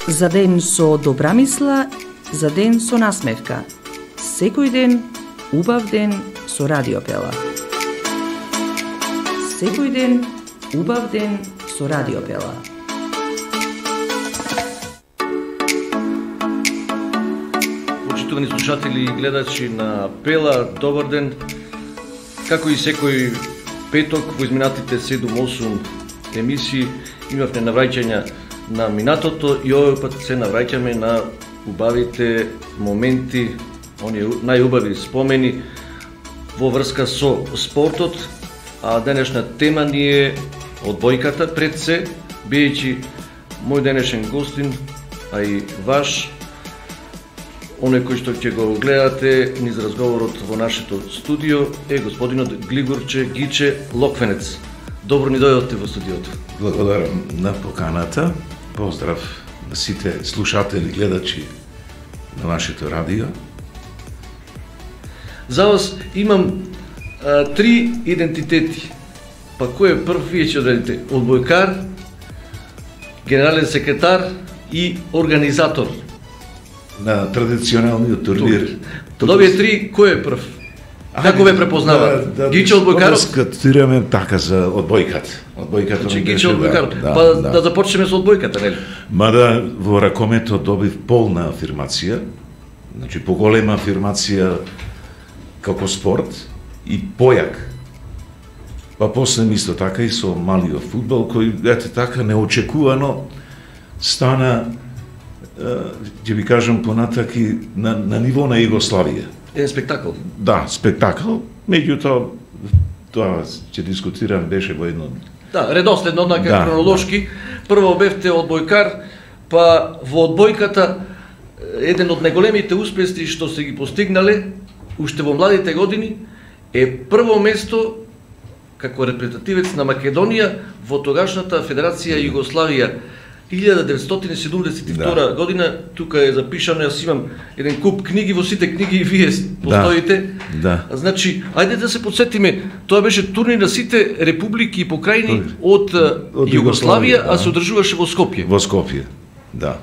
За ден со добра мисла, за ден со насмевка. Секој ден, убав ден со Радио Пела. Секој ден, убав ден со Радио Пела. Почитувани слушатели и гледачи на Пела, добар ден. Како и секој петок во изминатите 7-8 емисии имавме навраќања на минатото и овој пат се навраќаме на убавите моменти, оние најубави спомени во врска со спортот, а денешна тема ни е одбојката пред се, биејќи мој денешен гостин, а и ваш, оној кој што ќе го гледате низ разговорот во нашето студио е господинот Глигорче Гиче Локвенец. Добро ни дојдовте во студиото. Благодарам на поканата. Поздрав на сите слушатели, гледачи на нашето радио. За вас имам 3 идентитети. Па кој е прв, вие ќе одредите? Одбојкар, генерален секретар и организатор на традиционалниот турнир. Од овие 3 кој е прв? Како ве препознаваат? Гиче одбојкарот? Скатираме така за одбојката. Значи Гиче одбојкарот. Па да започнеме со одбојката, нели? Мада во ракомето добив полна афирмација, значи поголема афирмација како спорт и појак. Па после исто така и со малиот фудбал кој ете така неочекувано стана, ќе ви кажам понатаки на ниво на Југославија. Еден спектакл. Да, спектакл. Меѓутоа, тоа ќе дискутирам, беше во едно... Да, редоследно, однака хронолошки. Прво бевте одбојкар, па во одбојката еден од најголемите успеси што се ги постигнале уште во младите години е прво место како репрезентативец на Македонија во тогашната Федерација Југославија 1972 година. Тука е запишано, јас имам еден куп книги, во сите книги и вие постоите. Да. Значи, ајде да се подсетиме, тоа беше турнир на сите републики и покрајни од Југославија, а се одржуваше во Скопје. Во Скопје, да.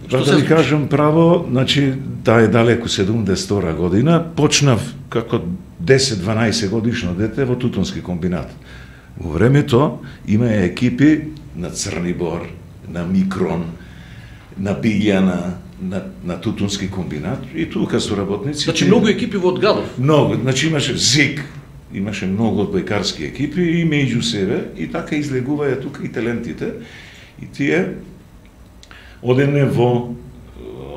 Да ви кажам право, значи, таа е далеку 72 година, почнав како 10-12 годишно дете во тутунски комбинат. Во времето има екипи на Црнибор, на Микрон, на Билјана, на тутунски комбинат и тука со работници. Значи многу екипи во Одгалов. Многу, значи имаше ЗИК, имаше многу одбојкарски екипи и меѓу себе и така излегуваја тука и талентите и тие одевне во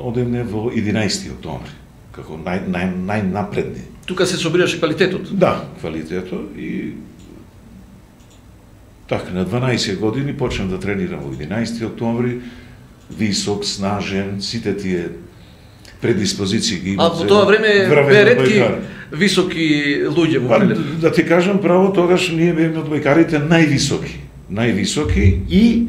11 октомври како најнапредни. Тука се собираше квалитетот. Да, квалитетот и така, на 12 години почнав да тренирам во 11 октомври, висок, снажен, сите тие предиспозиции ги имам. А во тоа време бе ретки високи луѓе во Прилеп. Да ти кажам право, тогаш ние бевме одбојкарите највисоки и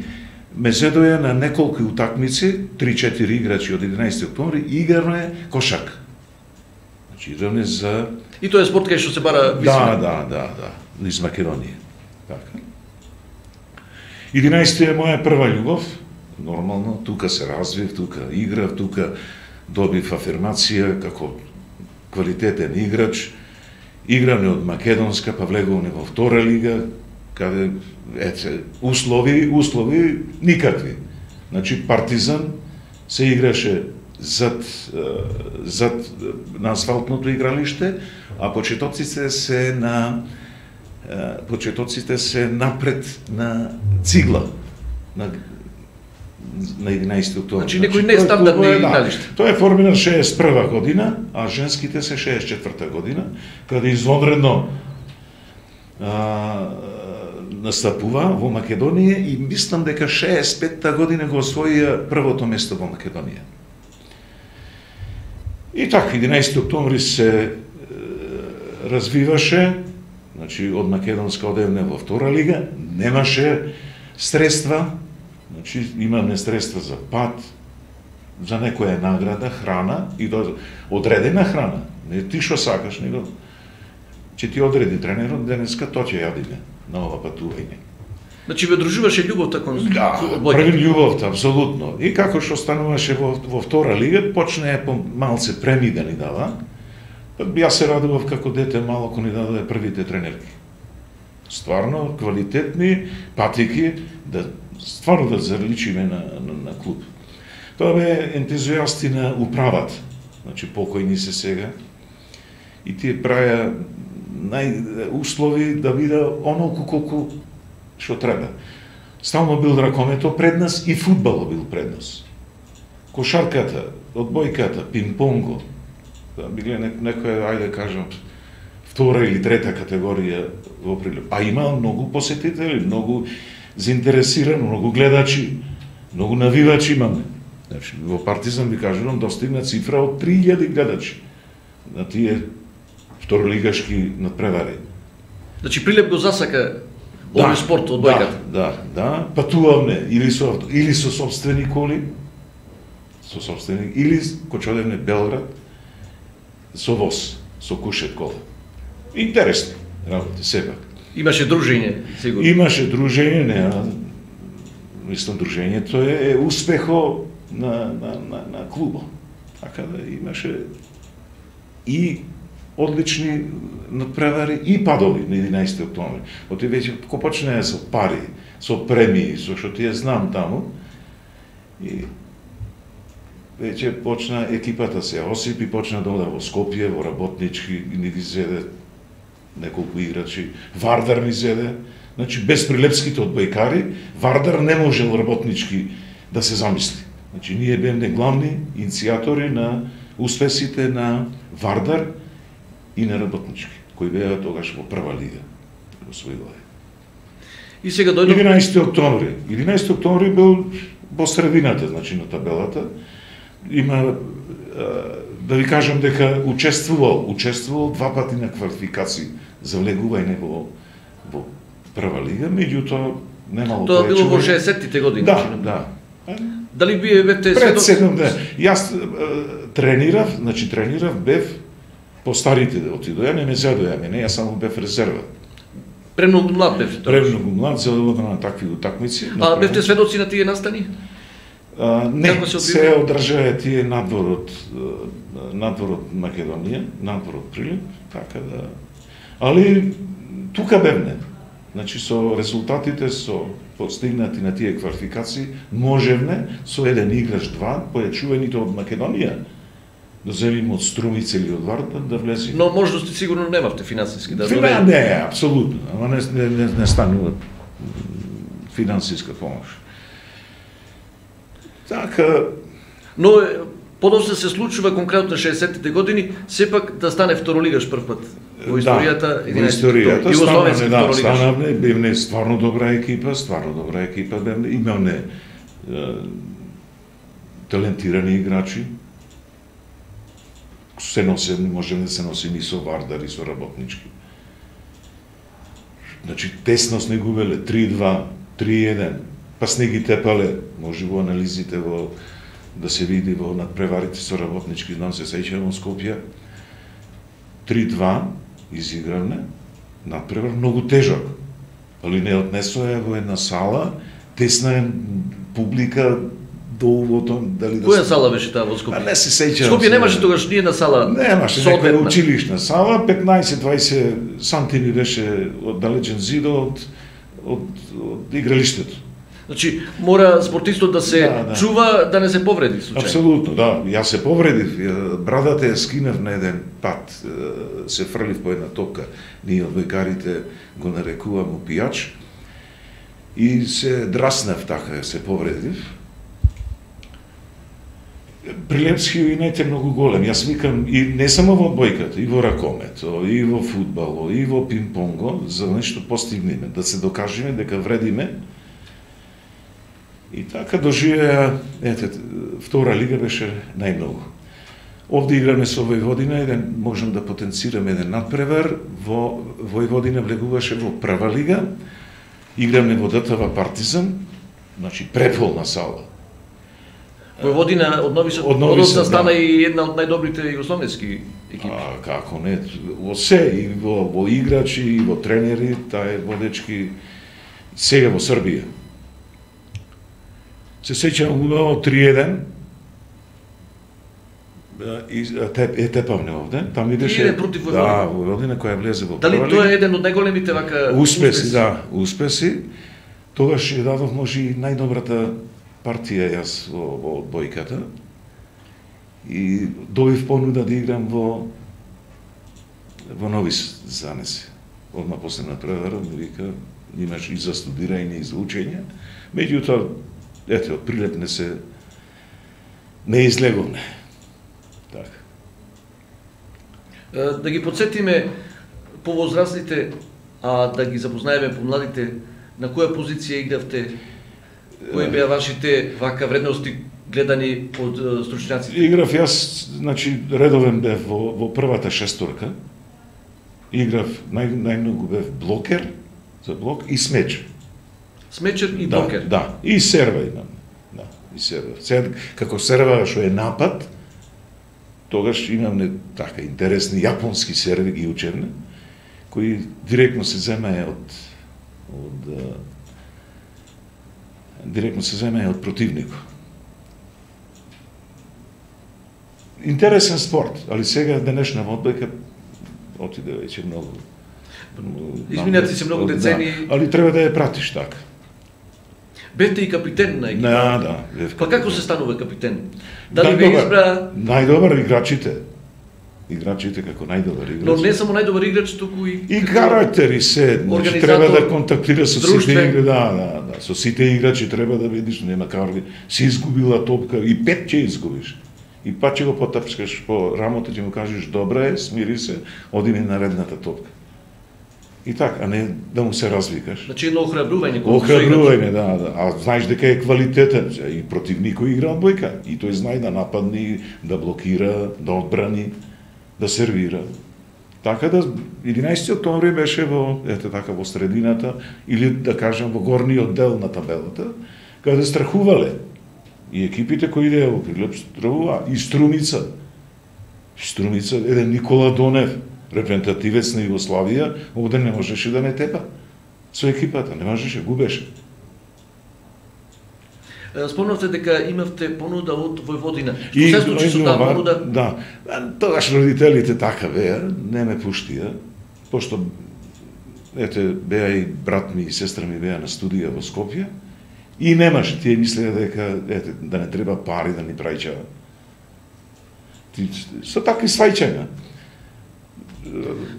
ме седоја на неколку утакмици, 3-4 играчи од 11 октомври, играме кошарка. Значи играме за... И тоа е спорт кај што се бара висина. Да, низ Македонија. Така. 11 е моја прва љубов, нормално, тука се развив, тука играв, тука добив афирмација како квалитетен играч. Играме од македонска, па влегуваме во втора лига, каде услови никакви. Значи Партизан се играше зад на асфалтното игралиште, а почетоците се напред на цигла на 11 октомври. Значи некој нестандардни игралишта. Тоа е формиран 61 година, а женските се 64 година, каде извонредно настапува во Македонија и мислам дека 65-та година го освоија првото место во Македонија. И така, 11 октомври се развиваше, значи од македонска одевне во втора лига, немаше средства, значи имаме средства за пат, за некоја награда, храна и одредена храна. Не ти што сакаш, него ќе ти одреди тренерот, денеска тоа ќе јадиме на ова патување. Значи ве дружуваше љубовта кон одбојката. Први љубовта, апсолутно. И како што стануваше во втора лига, почне по малце премии да ни дава. Јас се радував како дете мало кога ни даде првите тренерки. Стварно квалитетни патики да стварно да заличиме на клуб. Тоа бе ентузијасти на управата, значи покојни се сега. И тие праја услови да биде онолку колку што треба. Стално бил ракомето пред нас и фудбалот бил пред нас. Кошарката, одбојката, пинг-понго, биле некоја, ајде кажам, втора или трета категорија во Прилеп. А има многу посетители, многу заинтересирани, многу гледачи, многу навивачи имаме. Значи, во Партизан ви кажувам достигна цифра од 3000 гледачи на тие второлигашки надпревари. Значи Прилеп го засака овој спорт од бојката. Да, патувавме или со сопствени коли, или кога одевме Белград со воз, со кушет кола. Интересни работи сепак. Имаше дружење, сигурно. Имаше дружење, мислам дружењето е успехо на клубот. Така да имаше и одлични надпревари и падови на 11 октомври. Оти веќе ко почнеа со пари, со премии, со што тие знам таму. И веќе почна екипата се осипи, почна да ода во Скопје, во работнички, и ни зеде неколку играчи. Вардар ни зеде. Значи, без прилепските одбојкари, Вардар не можел работнички да се замисли. Значи, ние бевме главни иницијатори на успесите на Вардар и на работнички, кои беа тогаш во прва лига. Освоилаа. И сега дојде 11 октомври. 11 октомври бил во средината, значи, на табелата. Има, да ви кажам дека учествувал два пати на квалификации за влегување во прва лига, меѓутоа немало тоа било во 60-тите години. Да. Дали вие бевте пред 7 дена? Јас тренирав, бев по старите да отидоја, не ме задоја мене, јас само бев резерва. Премногу млад бевте тоа. Премногу млад за на такви утакмици. А бевте сведоци на тие настани? Не, се одржаа тие надвор од Македонија, надвор од Прилеп, така да. Али тука бевне. Значи со резултатите со постигнати на тие квалификации можевме со еден играч два појачуваните од Македонија да земиме од Струмица или од Вардар да влезе. Но можности сигурно немавте финансиски да доверите. Не, апсолутно, ама не станува финансиска помош. Така, но подоцна се случува конкретно на 60-тите години сепак да стане второлигаш прв пат во историјата, во историјата станавме, бевме стварно добра екипа, бевме, имавме талентирани играчи. Се носим, можеме да се носим и со Вардар и со работнички. Значи тесност не губеле 3-2, 3-1. Па сне ги тепале, може во анализите да се види во надпреварите со работнички, знам се сеќавам во Скопје. 3-2 изигравме, надпревар многу тежок, али не однесоа во една сала, тесна публика до увото, дали да. Која сала беше таа во Скопје? Не се сеќавам. Скопје немаше тогаш ни една сала. Немаше некоја училишна сала, 15-20 сантими беше оддалечен зидот од игралиштето. Значи, мора спортистот да се чува да не се повреди случајно. Апсолутно, да. Јас се повредив. Брадата ја скинав на еден пат. Се фрлив по една топка. Ние одбојкарите го нарекуваме пијач. И се драснав така, се повредив. Прилепски инет е многу голем. Јас викам, и не само во одбојката, и во ракомето, и во фудбало, и во пинг-понго, за нешто постигнеме, да се докажеме дека вредиме. И така доживеа, втора лига беше најмногу. Овде играме со Војводина, можам да потенцираме еден надпревар, во Војводина влегуваше во прва лига, играме во ДТВ Партизан, значи преполна сала. Војводина од Нови Сад стана и една од најдобрите југословенски екипи. Како не, во се, и во играчи, и во тренери, таа е водечки Сега во Србија. Се сеќавам убаво 3-1, тепавне овде, там ми беше... 3-1 против Војводина. Да, Војводина која влезе во Дали прва тоа лига. е еден од најголемите вака Успеси, да, успеси. Тогаш ја дадов може и најдобрата партија јас во одбојката. И добив понуда да играм во Нови Занеси. Одма после натпреварот ми вика, имаш и за студирање и за учење. Меѓутоа, ете, од прилет не излеговне. Така. Да ги подсетиме повозрастните, а да ги запознаеме помладите, на која позиција игравте, кои беа вашите вака вредности гледани од стручњаците? Играв јас, значи, редовен бев во првата шесторка. Играв, најмногу бев блокер, за блок, и смечер. Смечер и блокер? Да, и серва имам. Да, и серва. Сега, како серва што е напад, тогаш имам така интересни јапонски серви ги учевме, кои директно се земаја од противникот. Интересен спорт, али сега денешна одбојка отиде веќе многу. Изминати се многу децени. Да, али треба да ја пратиш така. Бевте и капитен на екипа. Да. Па како се станува капитен? Дали ве избра? Најдобар играчите. Играчите како најдобар играч. Но не само најдобар играч, туку и карактери се, значи треба да контактира со сите играчи, да, со сите играчи треба да видиш, нема карги. Си изгубила топка и 5 ќе изгубиш. И па ќе го потапскаш по рамото, ќе му кажеш добра е, смири се, оди ми наредната топка. И така, а не да му се развикаш. Значи едно охрабрување. Охрабрување, да. А знаеш дека е квалитетен. И против никој игра одбојка. И тој знае да нападни, да блокира, да одбрани, да сервира. Така да 11 октомври беше во средината, или да кажам во горниот дел на табелата, каде страхувале. И екипите кои идеја во Прилеп страхува. И Струмица, еден Никола Донев, репрезентативец на Југославија, овде не можеше да не тепа. Со екипата, не можеше, губеше. Спомнавте дека имавте понуда од Војводина. Што се случи со таа понуда? Да. Тогаш родителите така беа, не ме пуштија, пошто беа и брат ми и сестра ми беа на студија во Скопје и немаше, тие мислеа дека да не треба пари да ни праќа. Со такви свајчања.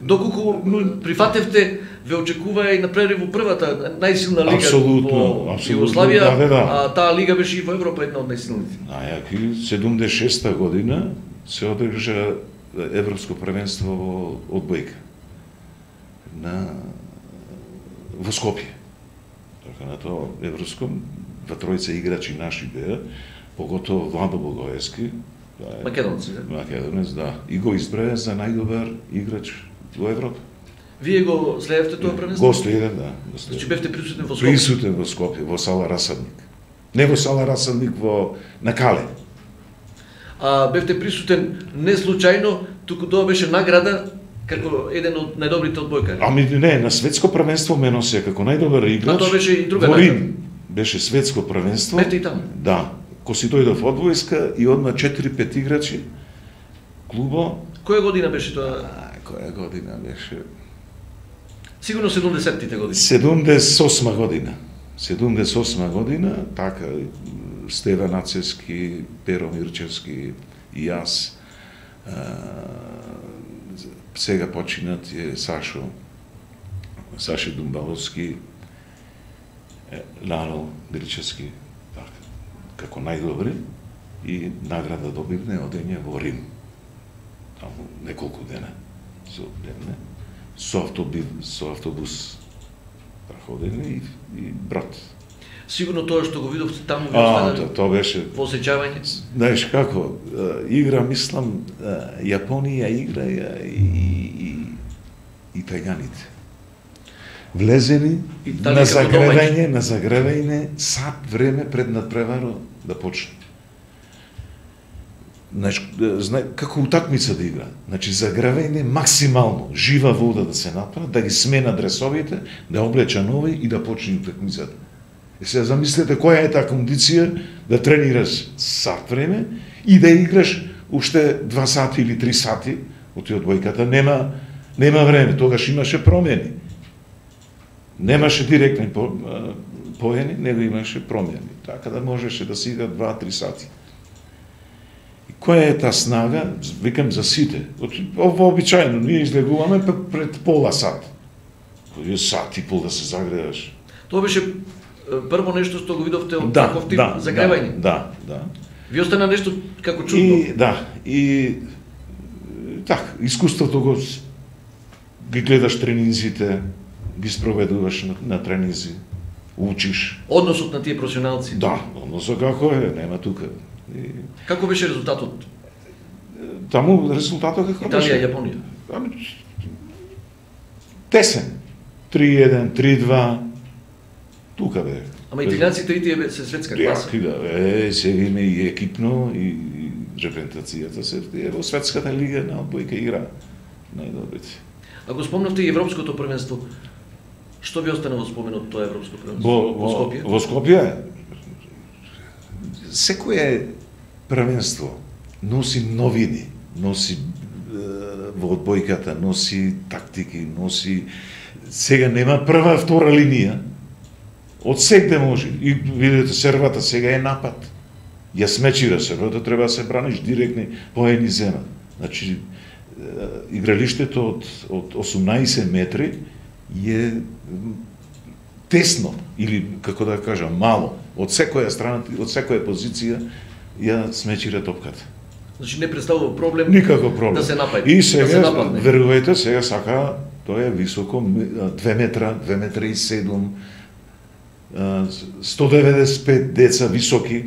Доколку прифатевте, ве очекува и напред во првата најсилна лига во Југославија, а таа лига беше и во Европа една од најсилните. Најаки, 76-та година се одржа Европско првенство во одбојка во Скопје. Така на тоа Европско, два тројца играчи наши беа, поготово Владо Богоевски, Македонци, Македонец, да. И го избраа за најдобар играч во Европа. Вие го следевте тоа првенство? Го следев, да. Значи бевте присутен во Скопје? Присутен во Скопје, во сала Расадник. Не во сала Расадник, на Кале. А бевте присутен не случајно, туку тоа беше награда како еден од најдобрите одбојкари? Ами не, на светско првенство ме носи како најдобар играч. А тоа беше и друга награда. Рим беше светско првенство. Бевте и таму? Да. Ко си дојдов од војска и одма 4-5 играчи клубо. Која година беше тоа? Која година беше? Сигурно 70-тите години. 78 година. 78 година, така, Стеван Ацевски, Перо Мирчевски и јас. Сега починат е Сашо Думбаловски, Лало Гричевски, така, како најдобри, и награда добивне одење во Рим. Таму неколку дена со автобус проходени и брат. Сигурно тоа што го видовте таму ви останали тоа беше во осеќавање? Знаеш како, игра, мислам, Јапонија играја и италијаните. Влезени на загревање сат време пред надпреварот да почне. како утакмица да игра. Значи, загревање максимално, жива вода да се направи, да ги смена дресовите, да облеча нови и да почне утакмицата. И сега замислете која е таа кондиција да тренираш сат време и да играш уште 2 сати или 3 сати од одбојката. Нема време, тогаш имаше промени. Немаше директни поени, него имаше промени. Така да можеше да се игра 2-3 сати. И која е таа снага, викам за сите. Вообичајно, ние излегуваме пред пола сат. Кој е сат и пол да се загреваш. Тоа беше прво нешто што го видовте од таков тип загревање. Да. Ви остана нешто како чудно. И искуството ги гледаш тренинзите, ги спроведуваш на тренинзи, учиш. Односот на тие професионалци. Да, односот како е, нема тука. Како беше резултатот? Таму резултатот како беше? Италија, Јапонија. Тесен. 3-1, 3-2. Тука бе. Ама италијанците и тие се светска класа. Сега има и екипно и репрезентацијата се во светската лига на одбојка игра најдобрите. Ако спомнавте и европското првенство, што ви остана во споменот тоа европско првенство? Во Скопје? Во Скопје секое првенство носи новини, носи во одбојката, носи тактики, носи сега нема прва, втора линија. Од секде може. И видите, сервата сега е напад. Ја смечира сервата, треба да се браниш директни поени зема. Значи, игралиштето од 18 метри е тесно, или, како да кажам, мало. Од секоја страна, од секоја позиција ја смечира топката. Значи не представува проблем. Никаков проблем. Да се напаѓа. И сега, да се нападне. верувајте, сега сака, тоа е високо, 2 метра, 2 метра и 7, 195 деца високи.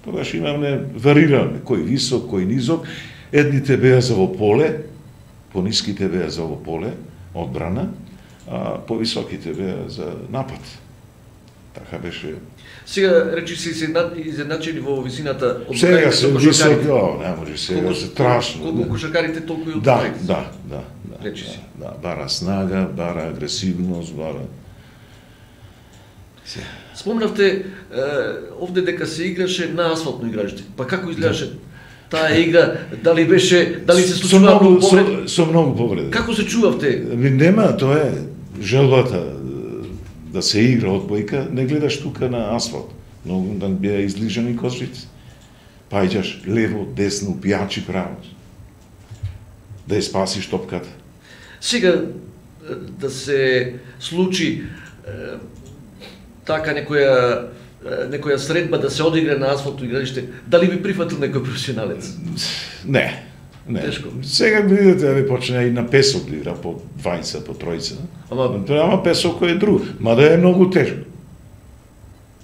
Тогаш имаме вариране, кој висок, кој низок. Едните беа за во поле, пониските беа за во поле, одбрана, а повисоките беа за напад. Така беше. Сега речи се изедначени во висината од сега се високи, не може сега се страшно. Колку кошаркарите толку и од да. Речи се. Да, бара снага, бара агресивност, бара. Спомнавте овде дека се играше на асфалтно игралиште. Па како изгледаше таа игра? Дали се случува многу повреди? Со многу повреди. Како се чувавте? Нема, тоа е желбата да се игра одбојка, не гледаш тука на асфалт. Многу да беа излижани козрици. Паѓаш лево, десно, пијачи право. Да ја спасиш топката. Сега да се случи така некоја средба да се одигра на асфалтно игралиште, дали би прифатил некој професионалец? Не. Тешко. Сега видите, да почне и на песок да игра по 20, по 30. Ама песок кој е друг. Мада е многу тешко.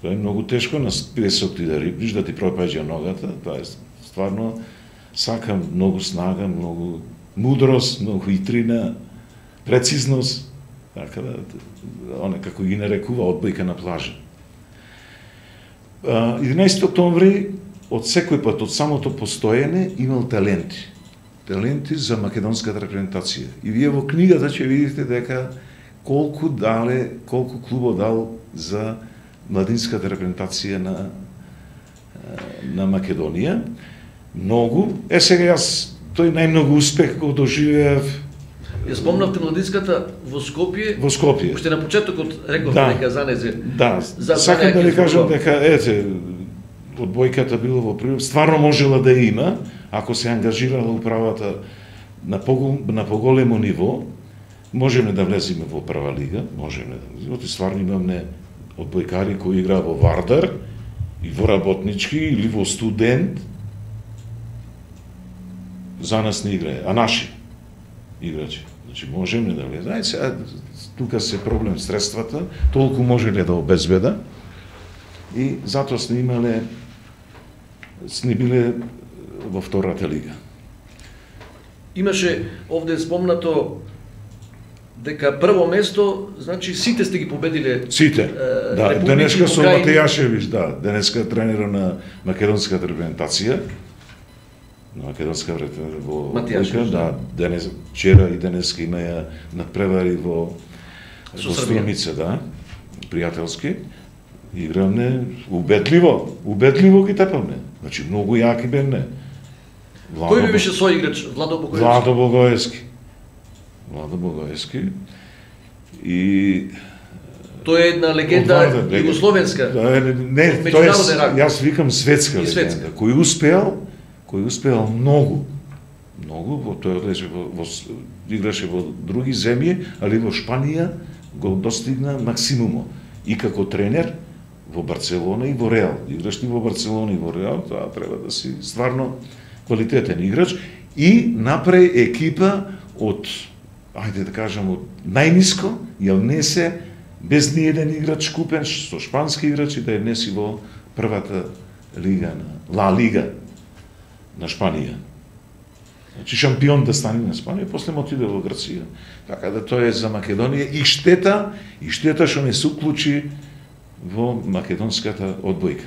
Тоа е многу тешко на песок ти да рипниш, да ти пропаѓа ногата. Тоа е стварно сака многу снага, многу мудрост, многу хитрина, прецизност. Така да, како ги нарекува одбојка на плажа. 11 октомври, од секој пат, од самото постоење, имал таленти. Таленти за македонската репрезентација. И вие во книгата ќе видите дека колку клубо дал за младинската репрезентација на Македонија. Многу. Сега јас тој најмногу успех го доживеав. Ја спомнавте младинската во Скопје. Во Скопје. Уште на почетокот рековте дека занезе. Да. Сакам да ви кажам дека одбојката било во прилог, стварно можела да има, ако се ангажирала управата на поголемо ниво, можеме да влеземе во прва лига, можеме да влеземе. Стварно имаме одбојкари кои играа во Вардар и во Работнички или во Студент. За нас не играе, а наши играчи. Значи можеме да влеземе. Сега тука се проблем средствата, толку можеле да обезбеда и затоа сме биле во втората лига. Имаше овде спомнато дека прво место, значи сите сте ги победиле. Сите. Да, денеска со Матејашевич, денеска тренер на македонската репрезентација. на македонска во Матијашевич, да, денес, вчера и денеска имаја надпревари во Струмица, да, пријателски. Игравме убедливо ги тепавме. Значи, многу јаки бевме. Кој би беше соиграч? Владо Богоевски. Владо Богоевски. И тој е една легенда југословенска. Не, јас викам светска легенда. Кој успеал многу, тој играше во други земји, али во Шпанија го достигна максимумо. И како тренер во Барселона и во Реал. Играш ти во Барселона и во Реал, тоа треба да си стварно квалитетен играч и направи екипа од, ајде да кажам, од најниско, ја внесе без ни еден играч купен со шпански играчи да ја внеси во првата лига на Ла Лига на Шпанија. Значи шампион да стане на Шпанија, после му отиде во Грција. Така да тоа е за Македонија и штета што не се уклучи во македонската одбојка.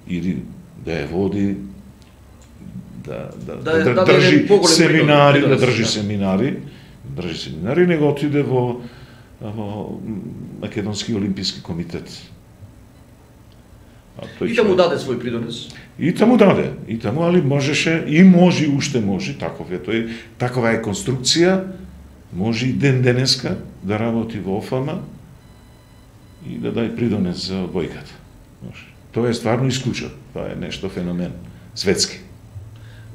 Или да ја води, да држи семинари, него отиде во Македонски олимписки комитет. И таму даде свој придонес. И таму даде, али можеше, и може, уште може, такова е конструкција, може и ден денеска да работи во ОФАМА и да дај придонес за одбојката. Тоа е стварно исклучено, тоа е нешто феномен, светски.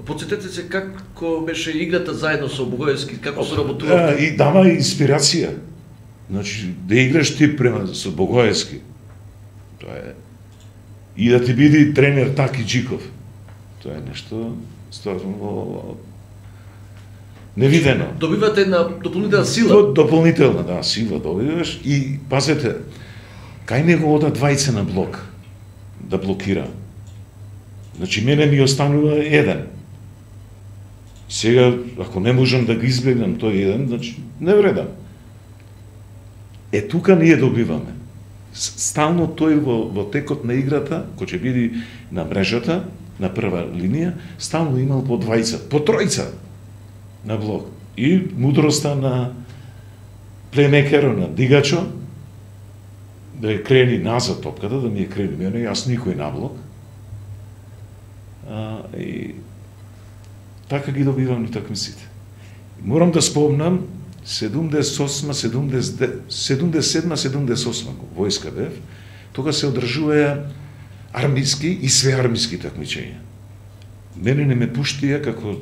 Подсетете се како беше играта заедно со Богоевски, како се работува? И дава инспирација. Значи, да играш ти према со Богоевски, тоа е. И да ти биде тренер Таки Джиков. Тоа е нешто стварно невидено. Добивате една дополнителна сила. Дополнителна, да, сила добиваш и пазете, кај него ода двајца на блок да блокира. Значи мене ми останува еден. Сега ако не можам да го избегнам тој еден, значи не вредам. Тука ние добиваме. Стално тој во текот на играта, кој ќе биде на мрежата, на прва линија, стално имал по двајца, по тројца на блок. И мудроста на плеймекеро, на дигачо, да ја крени назад топката, да ми ја крени мене, јас никој на блок. И така ги добивам ни такмиците. Морам да спомнам 77-78 војска бев, тога се одржуваја армиски и свеармиски такмичења. Мене не ме пуштија како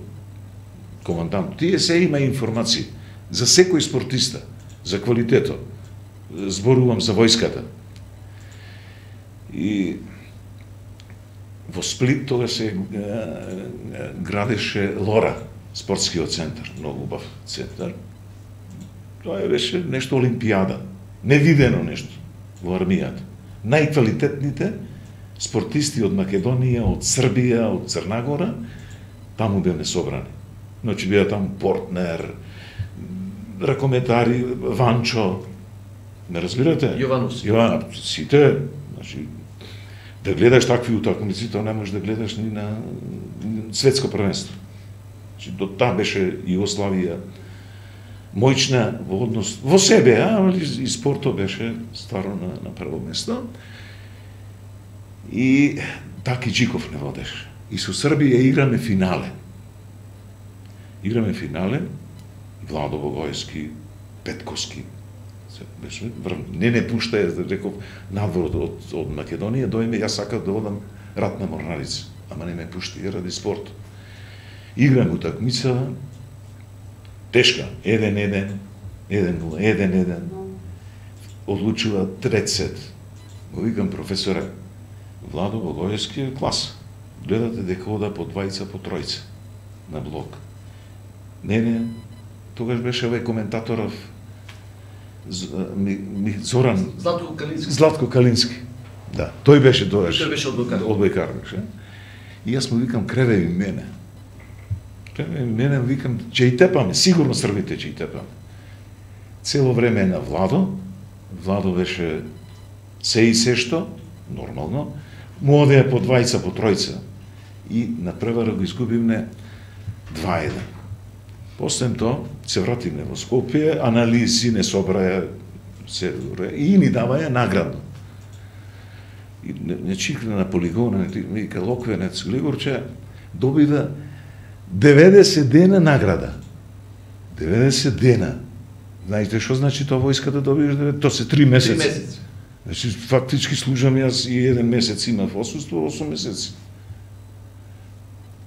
командант. Тие се има информации за секој спортиста, за квалитетот. Зборувам за војската. И во Сплит тога се градеше Лора, спортскиот центар, многу убав центар. Тоа беше нешто олимпијада, невидено нешто во армијата. Најквалитетните спортисти од Македонија, од Србија, од Црна Гора, таму бевме собрани. Значи беа таму Портнер, ракометари, Ванчо, не разбирате? Јованов. Сите, значи, да гледаш такви утакмици, тоа не можеш да гледаш ни на светско првенство. Значи, до таа беше Југославија мојчна во однос во себе, али и спортот беше стварно на прво место. И Таки Джиков не водеше. И со Србија играме финале. Владо Богоевски, Петковски, беше не пуштаја, реков, надвор од Македонија, дојме, јас сакав да одам ратна морнарица, ама не ме пушти ради спорт. Играм утакмица, тешка, 1-1, 1-0, одлучува трет сет. Го викам професоре, Владо Богоевски е клас. Гледате дека ода по двајца, по тројца на блок. Не, тогаш беше овој коментаторов Зоран Златко Калински. Да, тој беше тогаш. Тој беше одбојкар. И јас му викам креве мене. Викам, ќе и тепаме, сигурно србите ќе и тепаме. Цело време на Владо беше се и се што, нормално, му одеја по двајца, по тројца. И на превара го изгубивме 2-1. После тоа се вративме во Скопје, анализи не собраја се и ни даваја наградно. И не чикна на полигона, ми вика Локвенец Глигорче добива 90 дена награда. 90 дена. Знаете што значи тоа војска да добиеш? Тоа се 3 месеци. 3 месеци. Значи фактички служам јас и 1 месец имав отсуство, 8 месеци.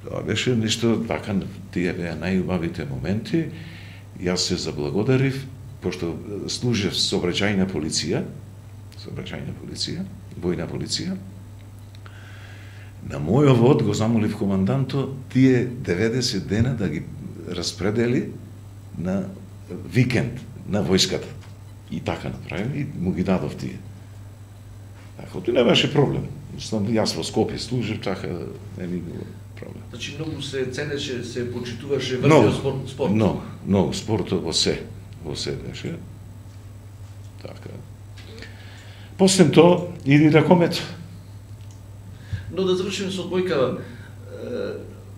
Тоа беше нешто така, тие беа најубавите моменти. Јас се заблагодарив, пошто служев сообраќајна полиција, војна полиција. На мојот вод го замолив команданто тие 90 дена да ги распредели на викенд на војската. И така направи, и му ги дадов тие. Така, тоа не беше проблем. Јас во Скопје служев, така не ми било проблем. Значи многу се ценеше, се почитуваше врвниот спорт. Многу спортот во се беше. Така. После тоа иди ракомет. Но да завршиме со одбојкава.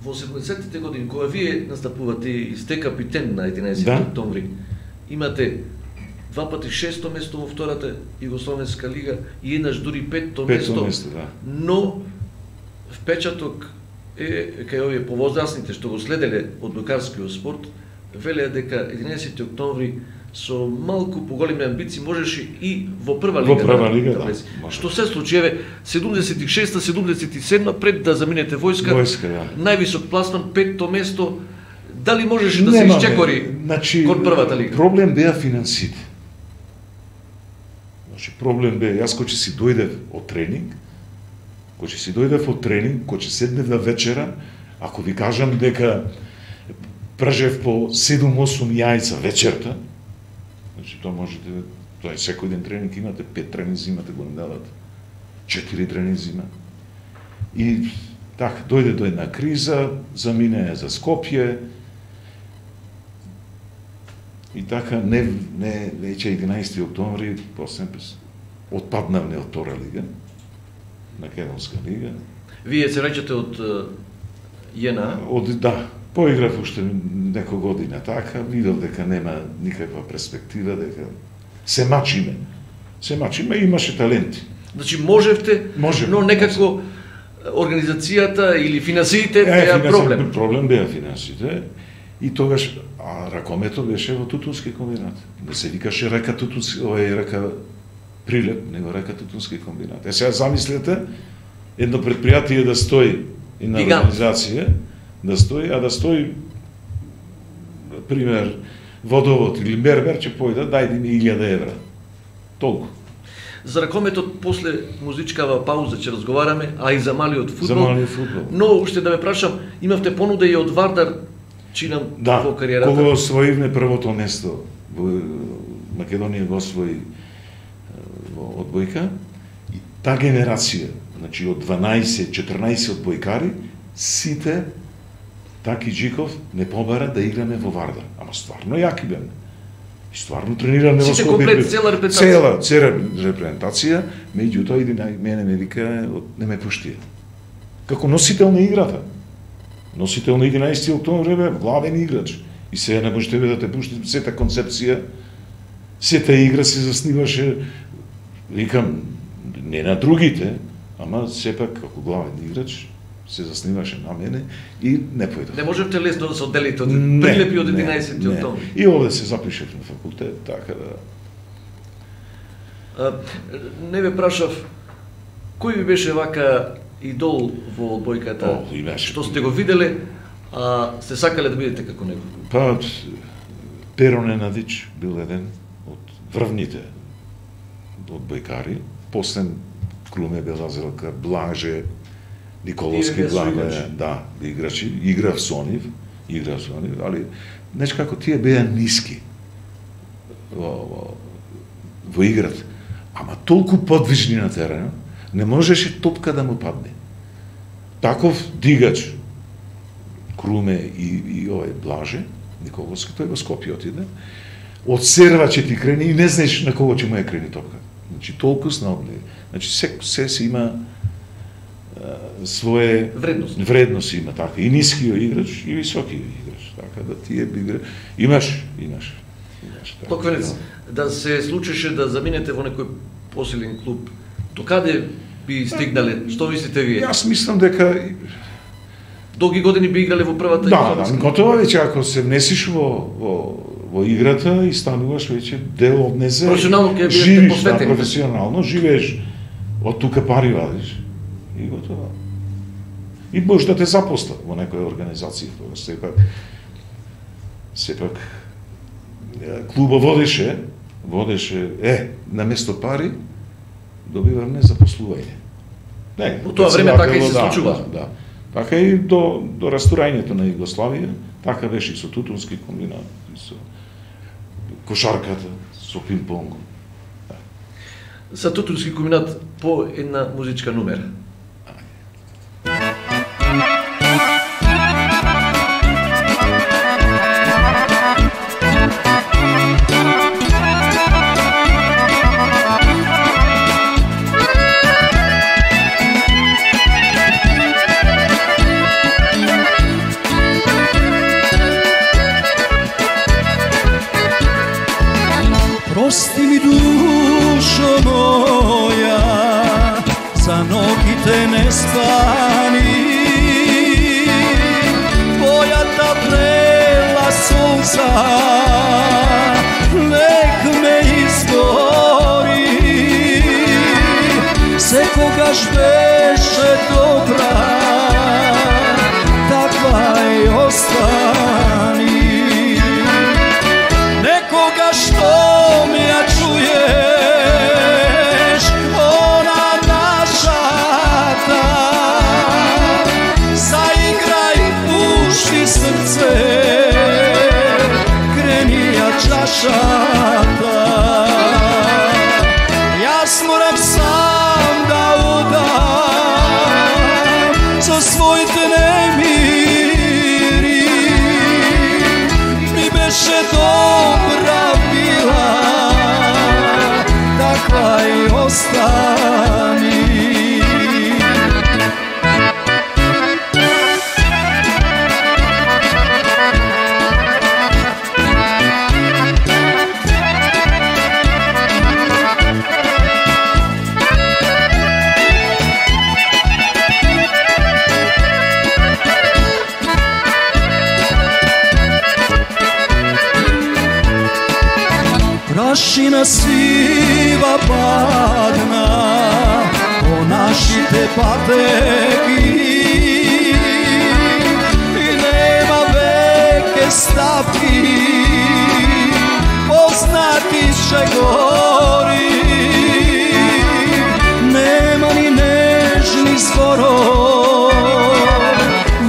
Во 70-тите години, кога вие настапувате и сте капитен на 11 октомври, имате 2 пати 6-то место во втората Југословенска лига и еднаш дури 5-то место, да. Но впечаток е кај овие повозрасните што го следеле одбојкарскиот спорт, велеа дека 11 октомври со малку поголеми амбиции можеше и во прва лига да влезе. Што се случи, еве 76-та, 77-та пред да заминете војска, највисок пласман 5-то место, дали можеше да се исчекори кон првата лига? Проблем беа финансите. Проблем бе, јас кој си дојдев од тренинг, кој седнев на вечера, ако ви кажам дека пражев по 7-8 јајца вечерта, значи тоа можете, тоа е секој ден тренинг имате, 5 тренинзи имате, го дадат, 4 тренинзи има. И така, дојде до една криза, замине за Скопје, и така, веќе 11 октомври, после отпаднавме од втора лига, Македонска лига. Вие се враќате од ЈНА? Да, поиграв уште некој година така, видов дека нема никаква перспектива, дека се мачиме, имаше таленти. Значи можевте, но некако организацијата или финансиите беа проблем. Проблем беа финансите. И тогаш ракомето беше во Тутунски комбинат. Не се викаше река Тутунски, река Прилеп, него река Тутунски комбинат. Сега замислете едно предпријатие да стои, една организација да стои, а да стои пример водовод или мермер ќе појде, дајде ми 1000 евра. Толку. За ракометот после музичкава пауза ќе разговараме, а и за малиот фудбал. За малиот фудбал. Но уште да ме прашам, имавте понуда и од Вардар чинам во кариерата? Да, кога освоивме првото место во Македонија го освои во одбојка, и та генерација, значи од 12-14 одбојкари, сите Таки Джиков не побара да играме во Вардар. Ама стварно јаки беме. И стварно тренираме во Скопје. Сите комплет, цела репрезентација. Цела репрезентација, меѓутоа иди мене ме вика, не ме пуштија. Како носител на играта. Носител на 11 октомври бе, главен играч. И сега не можете да те пушти сета концепција, сета игра се засниваше, викам, не на другите, ама сепак како главен играч се засниваше на мене и не појдов. Не можевте лесно да се одделите од Прилепи од 11 октомври. И овде се запишев на факултет, така да. Не ве прашав, кој ви беше вака идол во одбојката? Што сте го виделе, а сте сакале да бидете како него? Па, Перо Ненадич бил еден од врвните одбојкари, после Клуме Белазелка, Блаже, Николовски Блаже, да, играчи, играв со нив, али нешто како тие беа ниски во играта, ама толку подвижни на терена, не можеше топка да му падне. Таков дигач, Круме и овој Блаже, Николовски, тој во Скопје отиде, од серва ќе ти крени и не знаеш на кого ќе му ја крени топка. Значи толку снаобни. Значи се има своje вредности има, така, и нискиот играч и високиот играч, така да тие би имаш. Така. Токвенец, да се случеше да заминете во некој посилен клуб, до каде би стигнале? Што мислите вие? Јас мислам дека долги години би играле во првата Да, готово веќе ако се внесиш во играта и стануваш веќе дел од незе. Професионално ќе бидете посветени. Професионално живееш од тука пари вадиш и готово. И може да те запосла во некоја организација, сепак клуба водеше на место пари добиваме запослување. Не, во тоа време така и се случува. Да. Така и до растурањето на Југославија, така беше и со тутунски комбинат, и со кошарката, со пинг-понг. Да. За тутунски комбинат по една музичка номера. Прости ми, душо моја, за ногите не спани. Твојата прела сонца нек ме изгори. Секогаш беше добра, таква и остани. Некогаш што ми ја чуеш, она нашата, заиграј, пушти срце, крени ја чашата. Јас морам сам да удам со своите немири. Ми беше добра била, таква и остани. Prašina sива падна по нашите патеки и нема веќе стапки познати шегори. Нема ни нежни зборови,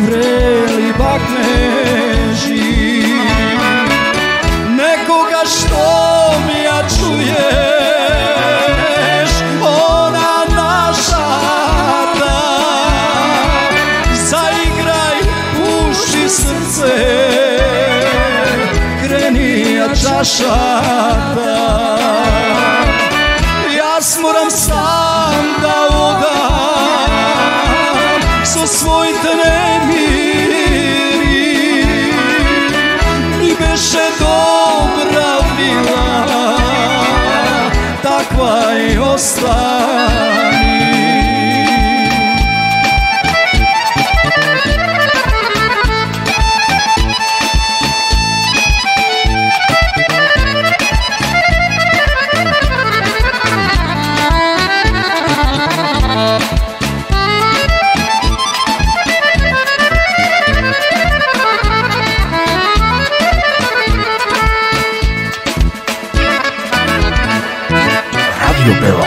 врели бакнежи. Некога што ми ја чуеш, она нашата, заиграј, пушти срце, крени ја чашата. Јас морам сам да удам со своите немири. Ми беше добра била, таква и остани. Радио Бела.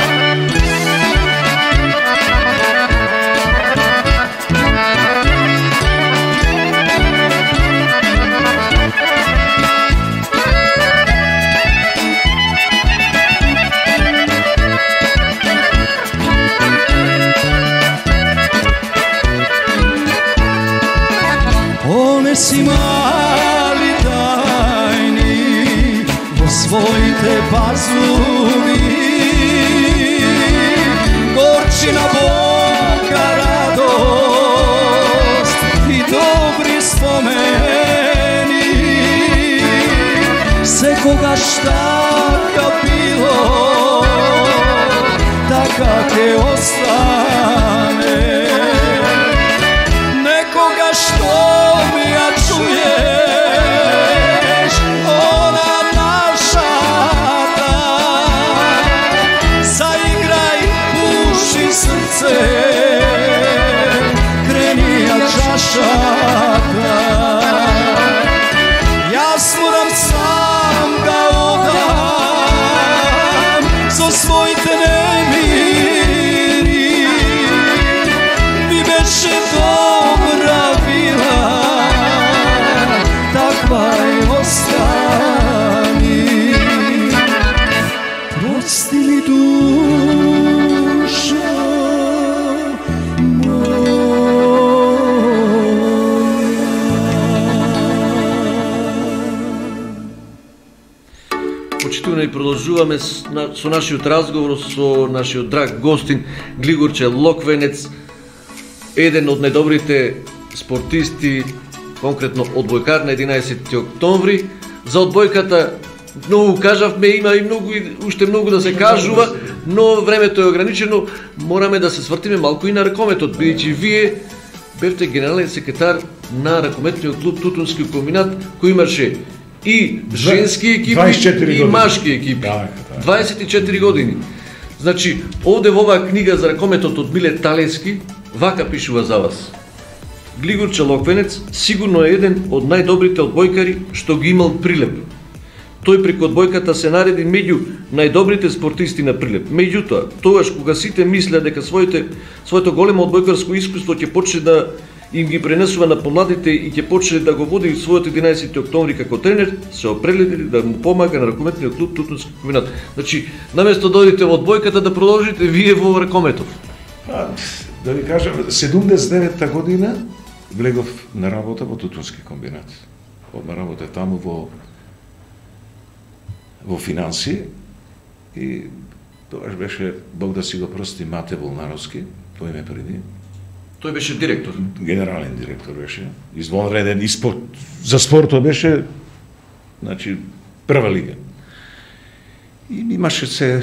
Понеси мали тајни во своите пазуви, горчина Бога радост baš taka bilo, taka te ostane. Nekoga što mi ja čuješ, ona naša ta, zaigraj, puši srce, kreni ja čašata. Jaz moram sam da odam so svojte nemiri, bi beše dobra bila, takva i ostani. Prosti mi duša И продолжуваме со нашиот разговор со нашиот драг гостин Глигорче Локвенец, еден од најдобрите спортисти, конкретно одбојкар на 11 октомври. За одбојката многу кажавме, има и уште многу да се кажува, но времето е ограничено. Мораме да се свртиме малку и на ракометот, бидејќи вие бевте генерален секретар на ракометниот клуб Тутунски комбинат, кој имаше и женски екипи и машки екипи. 24 години. Значи, овде во оваа книга за ракометот од Миле Талески, вака пишува за вас. Глигорче Локвенец сигурно е еден од најдобрите одбојкари што ги имал Прилеп. Тој преку одбојката се нареди меѓу најдобрите спортисти на Прилеп. Меѓутоа, тогаш кога сите мислеа дека своето големо одбојкарско искуство ќе почне да им ги пренесува на помладите и ќе почне да го води својот 11 октомври како тренер, се определили да му помага на ракометниот клуб Тутунски комбинат. Значи, наместо да одите во одбојката, да продолжите вие во ракометот. Да ви кажам, 79-та година влегов на работа во Тутунски комбинат. Одма работа таму во финанси и тогаш беше, Бог да си го прости, Мате Волнаровски, тој ме преди. Тој беше директор. Генерален директор беше. Извонреден и за спортот беше, значи, прва лига. И имаше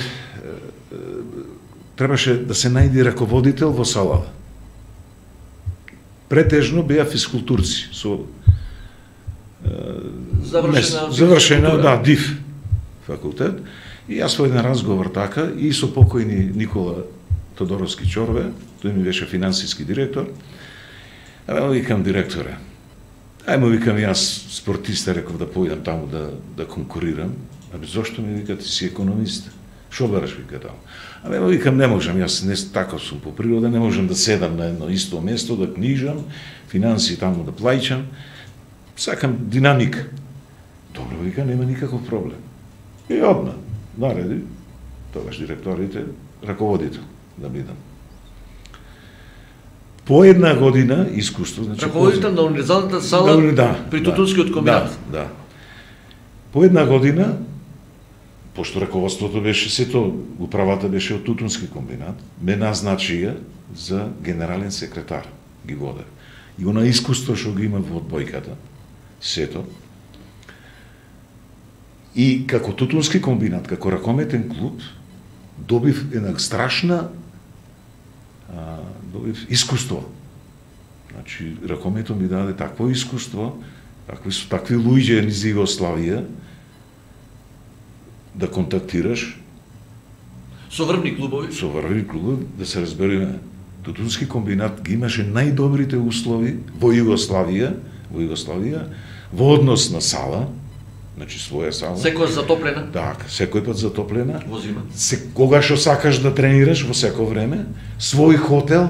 требаше да се најде раководител во салава. Претежно беа физкултурци со завршена ДИФ факултет. И јас во еден разговор така и со покојни Никола Тодоровски Чорве, тој ми беше финансиски директор. Ајмо викам директоре. Ајмо викам јас спортиста, реков да појдам таму да конкурирам. Абе зошто ми вика, ти си економист? Шо бараш вика таму? Ајмо викам, не можам, јас не таков сум по природа, не можам да седам на едно исто место, да книжам, финанси таму да плаќам. Сакам динамика. Добро вика, нема никаков проблем. И одна нареди тогаш директорите раководител да бидам. По една година искуство, значи раководител на универзалната сала при Тутунскиот комбинат. Да. По една година, пошто раководството беше сето, управата беше од Тутунски комбинат, ме назначија за генерален секретар, ги воде. И она искуство што го има во одбојката, сето. И како Тутунски комбинат, како ракометен клуб, добив една страшна добив искуство. Значи, ракометот ми даде такво искуство, такви луѓе низ Југославија, да контактираш со врвни клубови. Со врвни клубови, да се разбереме. Тутунски комбинат ги имаше најдобрите услови во Југославија, во однос на сала, значи своја сала. Секојаш затоплена? Да, секој пат затоплена. Во зима. Кога што сакаш да тренираш во секој време, свој хотел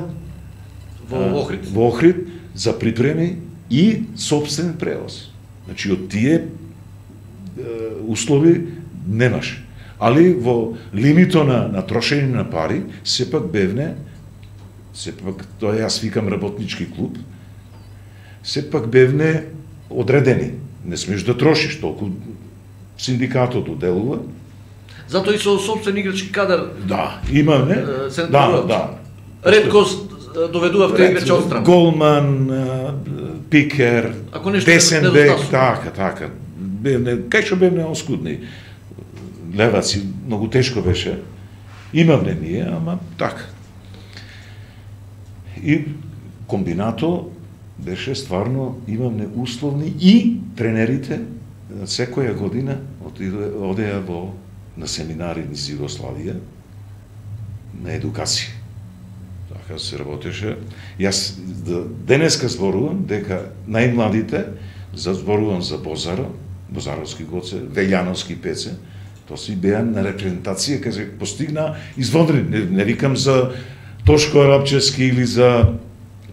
во Охрид. Во Охрид за припреми и сопствен превоз. Значи од тие услови немаш. Али во лимито на трошење на пари, сепак бевне, тоа јас викам работнички клуб, сепак бевне одредени. Не смеш да трошиш толку, синдикатот оделува. Затоа и со сопствен играчки кадар. Да, имаме. Да. Редкост доведувавте играчи одстрана. Голман, пикер, десен бек, така. Бевне, кај што бевне оскудни. Леваци, многу тешко беше. Имавме ние, ама така. И комбинато беше стварно, имавме условни и тренерите секоја година одеа на семинари низ Југославија на едукација. Така се работеше. Јас денеска зборувам дека најмладите зборувам за Бозаро, Бозаровски Гоце, Велјановски Пеце, то си беа на репрезентација кај се постигна извонредни. Не викам за Тошко Арапчевски или за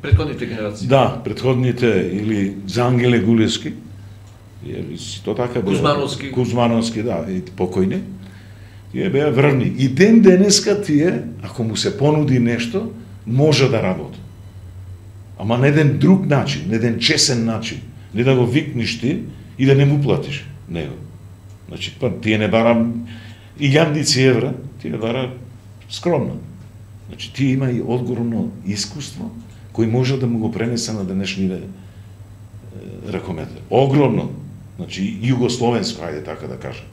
предходните генерации. Да, предходните или за Ангеле Гулевски. То така Кузмановски. Кузмановски, да, и покојни. Тие беа врвни. И ден денеска тие, ако му се понуди нешто, може да работи. Ама на еден друг начин, на еден чесен начин. Не да го викниш ти и да не му платиш него. Значи, тие не бара илјадници евра, тие бара скромно. Значи, тие има и одговорно искуство, кој може да му го пренесе на денешните ракометар. Огромно. Значи, југословенско, ајде така да кажем.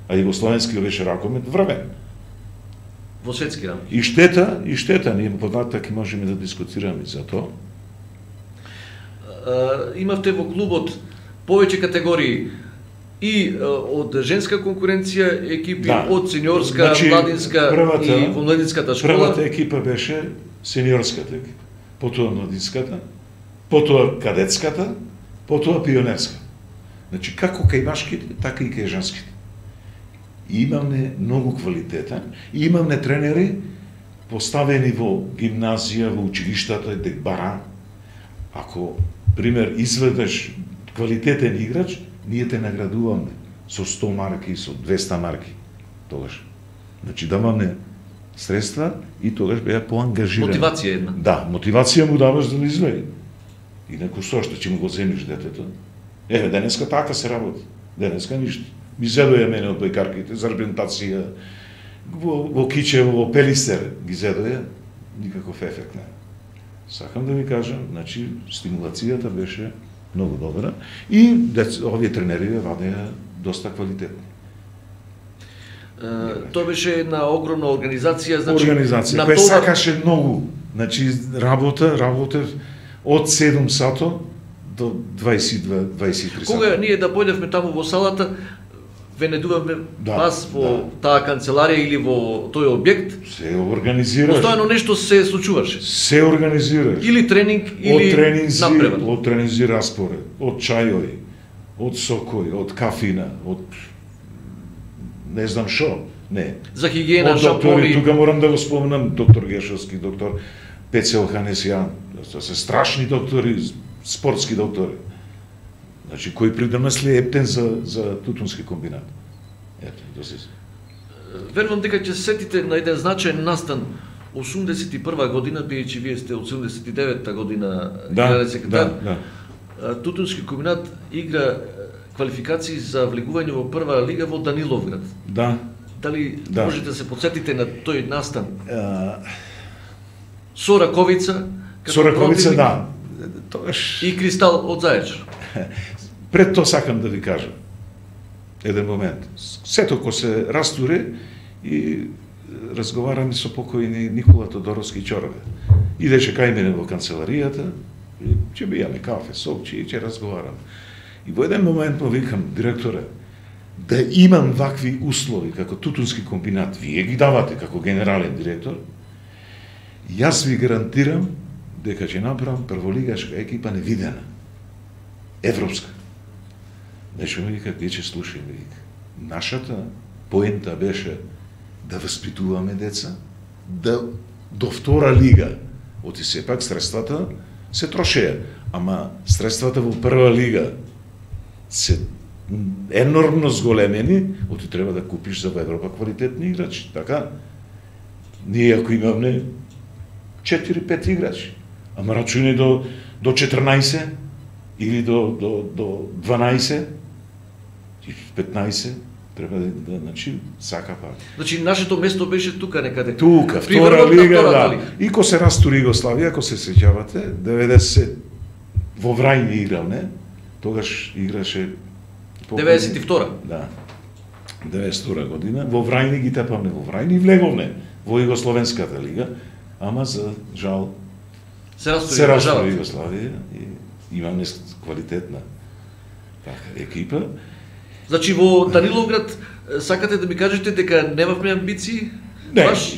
А југословенски беше ракомет врвен. Во светски рамки. И штета, ние податак и можеме да дискутираме за тоа. Имавте во клубот повеќе категории и од женска конкуренција екипи, да. Од сениорска, значи, младинска и во младинската школа. Првата екипа беше сениорската екипа, потоа младинската, потоа кадетската, потоа пионерска. Значи, како кај башките, така и кај женските. И имавме многу квалитетен, и имавме тренери поставени во гимназија, во училиштата, дек бара. Ако, пример, изведеш квалитетен играч, ние те наградуваме со 100 марки, со 200 марки. Тогаш. Значи, даваме средства и тогаш беа поангажирани. Мотивација една. Да, мотивација му даваш да не изведи. Инаку што ќе му го земиш детето? Еве, денеска така се работи. Денеска ништо. Ми зедоја мене од бојкарките за репрезентација во Кичево, во Пелистер ги зедоја, никаков ефект не. Сакам да ви кажам, значи, стимулацијата беше многу добра и овие тренери вадеа доста квалитетни. Тоа беше една огромна организација, значи организација која сакаше многу. Значи работев од 7 сато до 22-23 сата. Кога ние да појдевме таму во салата, венедуваме вас во таа канцеларија или во тој објект, се организираш. Постојано нешто се случуваше. Се организираш. Или тренинг, или напревар. Од тренинзи распоред, од чајови, од сокој, од кафина, од не знам шо, не. За хигиена, шампони. Тука морам да го спомнам доктор Гешовски, доктор Пеце Оханесјан. Тоа се страшни доктори, спортски доктори. Значи, кој придонесли ептен за тутунски комбинат. Ето, доси се. Верувам дека ќе се сетите на еден значаен настан 81 година, бидејќи вие сте од 79-та година генерален секретар. Тутунски комбинат игра квалификации за влегување во прва лига во Даниловград. Да. Дали можете да се подсетите на тој настан? Со Раковица, со Раковица, да. И Кристал од Заечар. Пред тоа сакам да ви кажам еден момент. Сето ко се растуре и разговараме со покојни Никола Тодоровски Ќорове. Идеше кај мене во канцеларијата, и ќе бијаме кафе, сок, ќе разговараме. И во еден момент му викам, директоре, да имам вакви услови како тутунски комбинат, вие ги давате како генерален директор, јас ви гарантирам дека ќе направам прволигашка екипа невидена. Европска. Нешто ми вика, ќе слушаме, вика. Нашата поента беше да воспитуваме деца, да до втора лига, оти сепак средствата се трошеа, ама средствата во прва лига се енормно зголемени, оти треба да купиш за Европа квалитетни играчи, така? Ние ако имаме 4-5 играчи, ама рачуни до 14 или до 12 и 15 треба да значи сака пак. Значи нашето место беше тука некаде. Тука, втора лига, да. И ко се растури Југославија, ако се сеќавате, 90 во Врајни играл, не? Тогаш играше 92-та. Да. 92 година, во Врајни ги тепавме во Врајни и влеговме во Југословенската лига, ама за жал Се се растори растори Југославија и имаме квалитетна екипа. Значи во Даниловград сакате да ми кажете дека немавме амбиции? Не, Баш?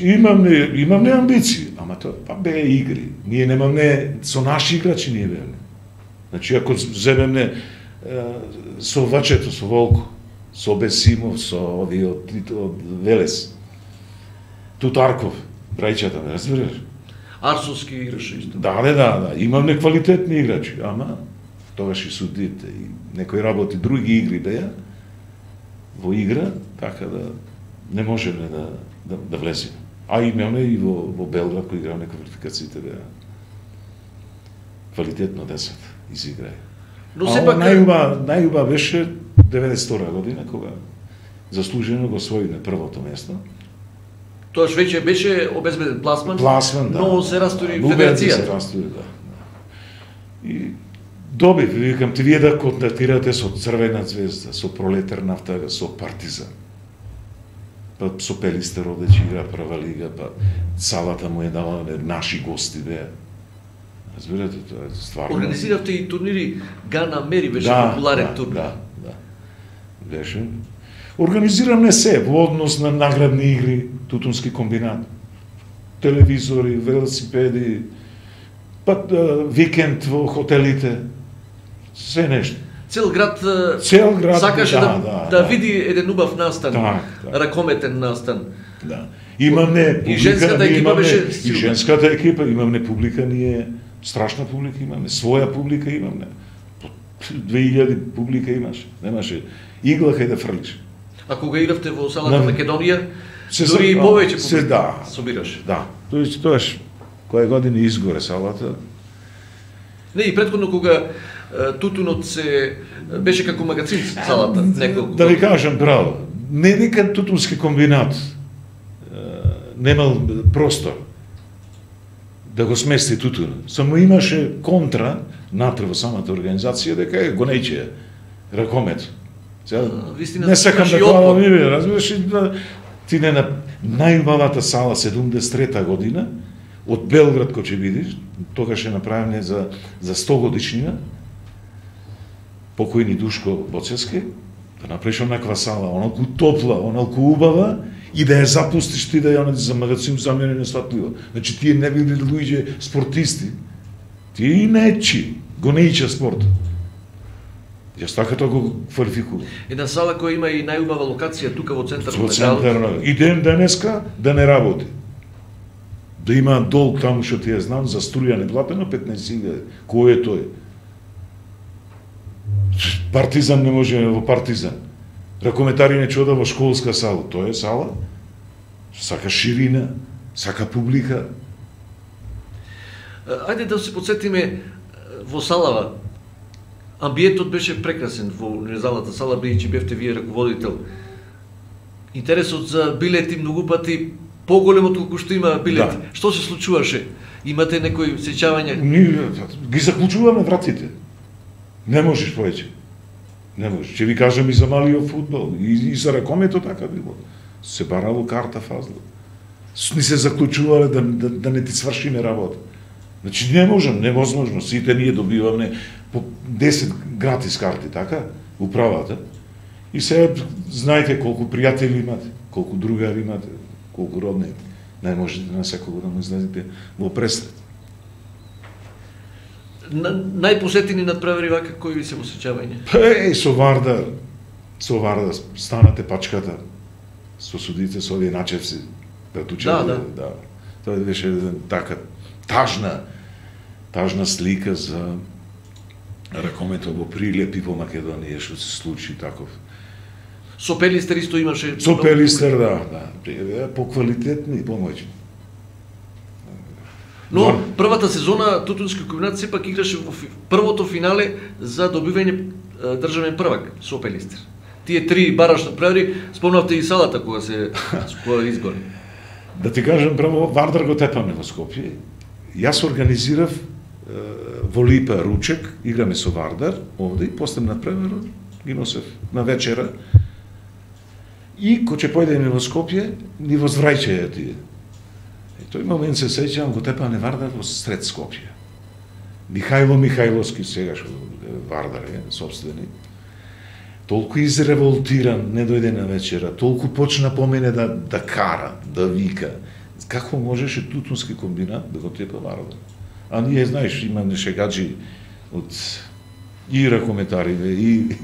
имаме амбиции, ама тоа па беа игри. Ние немаме со наши играчи ние беаме. Значи ако земеме со Вачето, со Волко, со Бесимов, со овие од Велес, Тутарков, брајчата, ме разбираш? Арсовски играше исто. Да, имаме квалитетни играчи, ама тогаш и судите и некои работи, други игри беа во игра, така да не можеме да влеземе. А имаме и во Белград кој играме квалификациите беа квалитетно 10 изиграја. Но А сепак најуба беше 92 година кога заслужено го освоиме првото место. тоаш веќе беше обезбеден пласман, Да. но се растори Луѓето се федерацијата. растори, да. И добив, викам ти, вие да контактирате со Црвена звезда, со Пролетар нафта, со Партизан. Па со Пелистер одеќе игра прва лига, па салата му е дала наши гости беа. Разбирате, тоа е стварно. Организиравте и турнири, Гана Мери беше популарен турнир. Да. Беше. Организираме се во однос на наградни игри, тутунски комбинат. Телевизори, велосипеди, па викенд во хотелите, се нешто. Цел град сакаше да. види еден убав настан, Так. ракометен настан. Да. Имаме публика, И женската екипа имаме, беше и силна. женската екипа, имаме публика, ние страшна публика имаме, своја публика имаме. 2000 публика имаше, немаше игла кај да фрлиш. А кога игравте во салата На- Македонија, Се дури и за- повеќе се публика да. собираш. Да, тоаш која година изгоре салата. Не, и претходно кога тутунот се беше како магазин салата, неколку. Да ви кажам право, не дека тутунски комбинат немал простор да го смести тутун. Само имаше контра натре во самата организација дека е гонејче ракомет. Сега, вистина, не сакам значи да хвалам отпор. име, разбираш, и да ти не на најубавата сала 73 година од Белград кој ќе видиш, тогаш е направена за 100 годишнина, покојни Душко Боцевски, да направиш онаква сала, онаку топла, онаку убава, и да ја запустиш ти да ја за магазин за мене несватливо. Значи тие не били луѓе спортисти, тие нечи, го неича спорт. Јас така тоа го квалификувам. Една сала која има и најубава локација тука во центарот Во на градот. центар, и ден денеска да не работи. Да има долг таму што ти ја знам за струја неплатено 15.000. Кој е тој? Партизан не може во Партизан. Ракометари не чода во школска сала. Тоа е сала. Сака ширина, сака публика. Ајде да се подсетиме во салава. Амбиентот беше прекрасен во универзалната сала, бидејќи бевте вие раководител. Интересот за билети многу пати поголем од колку што има билети. Да. Што се случуваше? Имате некои сеќавања? Ние ги заклучуваме вратите. Не можеш повеќе. Не можеш. Ќе ви кажам и за малиот фудбал, и за ракометот така било. Се барало карта фазла. Ни се заклучувале да не ти свршиме работа. Значи не можам, невозможно. Сите ние добиваме по 10 гратис карти, така, управата. И сега знаете колку пријатели имате, колку другари имате, колку родни. Не можете на секого да му излезете во пресред. Најпосетени надпревари вака кои ви се во сеќавање? Со Вардар станате пачката со судите, со овие начевци да тучат. Да. Тоа беше така тажна слика за ракометот во Прилеп и во Македонија што се случи таков. Со Пелистер исто имаше... Со Пелистер, да. Поквалитетни и помојни. Но првата сезона Тутунски комбинат сепак играше во првото финале за добивање државен првак со Пелистер. Тие три бараш надпревари, спомнавте и салата кога изгори. Да ти кажам право, Вардар го тепаме во Скопје. Јас организирав во Липа ручек, играме со Вардар овде и после надпреварот ги носев на вечера. И кога ќе појдеме во Скопје, ни возвраќаја тие. И тој момент се сеќавам, го тепане Вардар во сред Скопје. Михајло Михајловски, сегаш Вардар е, собствени, толку изреволтиран, не дојде на вечера, толку почна по мене да кара, да вика. Како можеше тутунски комбинат да го тепа Вардар? А ние, знаеш, имаме шегаджи од и ракометариве, и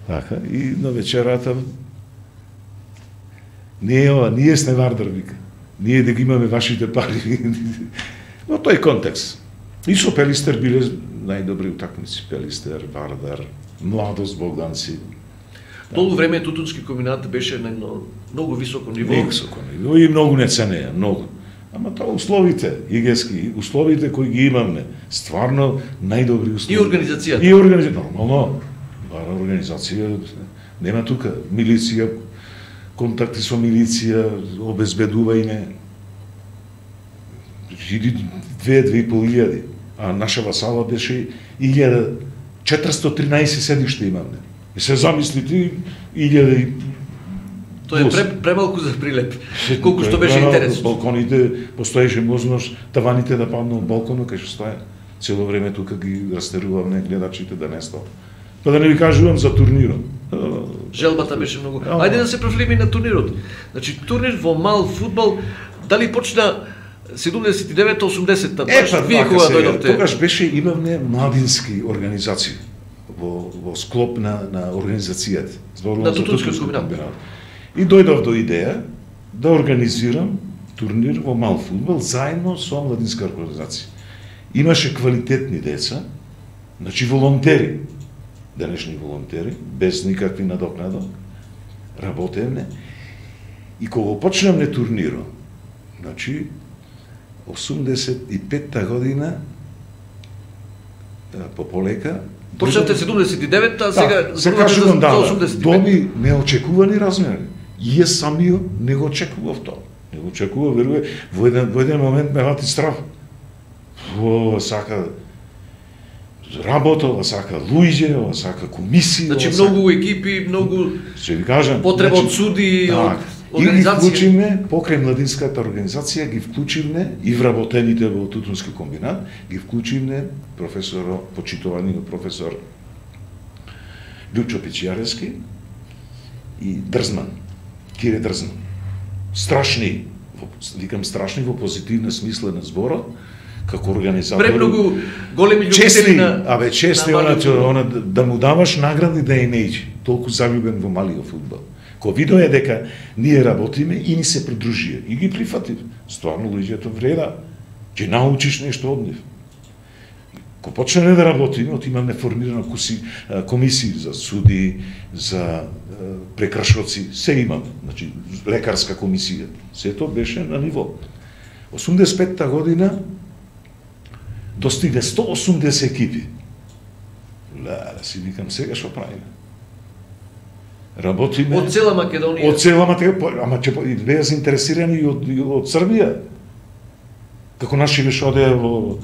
така, и на вечерата не е ова, ние сме Вардар, вика. Ние да ги имаме вашите пари. Во тој контекст. И со Пелистер биле најдобри утакмици. Пелистер, Вардар, Младост, Богданци. Толку време тутунски комбинат беше на многу високо ниво. Високо ниво и многу не ценеа, многу. Ама тоа условите, игески, условите кои ги имаме, стварно најдобри услови. И организацијата. И организацијата, нормално. Бара организација, нема тука милиција, контакти со милиција, обезбедување. Иди 2-2.500, а нашава сала беше 1413 седишта имаме. И се замислите 1000. Тоа е премалку за прилеп. Колку што беше интерес. Балконите постоеше можност таваните да паднат од балконот кај што стоја. Цело време тука ги растерувавме гледачите да не стоат. Па да не ви кажувам за турнирот. Желбата беше многу. Ајде да се профилиме на турнирот. Значи турнир во мал фудбал, дали почна 79-80-та, баш вие кога дојдовте? Тогаш беше имавме младински организации во склоп на организацијата. На тутунскиот комбинат. И дојдов до идеја да организирам турнир во мал фудбал заедно со младинска организација. Имаше квалитетни деца, значи волонтери, денешни волонтери, без никакви надокнада, работевне. И кога почнемме турнирот, значи 85-та година полека. Почнавте 79-та, а сега се кажувам, да, 85. доби неочекувани размери. И јас самиот не го очекував тоа. Не го очекував, верувам, во еден момент ме хвати страв. Сака работа, сака луѓе, сака комисија. Значи многу екипи, многу потреба од суди, од и ги вклучивме, покрај младинската организација, ги вклучивме и вработените во тутунски комбинат, ги вклучивме почитуваниот професор Лјучо Пичијарески и Дрзман, Кире Дрзман. Страшни, викам страшни во позитивна смисла на зборот, како организатори. Премногу големи љубители на чести она да му даваш награди да не иде. Толку заљубен во малиот фудбал. Ко видоа дека ние работиме и ни се придружија и ги прифатив. Стварно луѓето вреда, ќе научиш нешто од нив. Ко почнеме да работиме, имаме формирана комисии за суди, за прекршоци, се имаме, значи лекарска комисија. Сето беше на ниво. 85-та година достигне 180 екипи. Да си викам сега што правиме. Работиме од цела Македонија. Од цела Македонија, ама ќе беа заинтересирани и од Србија. Како наши беше оде во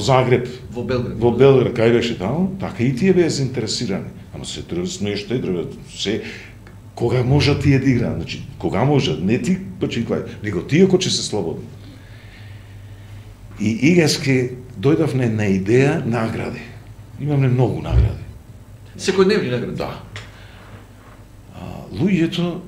Загреб, во Белград. Во Белград, кај беше таму, така и тие беа заинтересирани. Ама се треба нешто и треба се кога можат тие да играат, значи кога можат, не ти почитвај, него тие кои ќе се слободни. И игески дојдовме на идеја награди. Имаме многу награди. Секојдневни награди. Да. Луѓето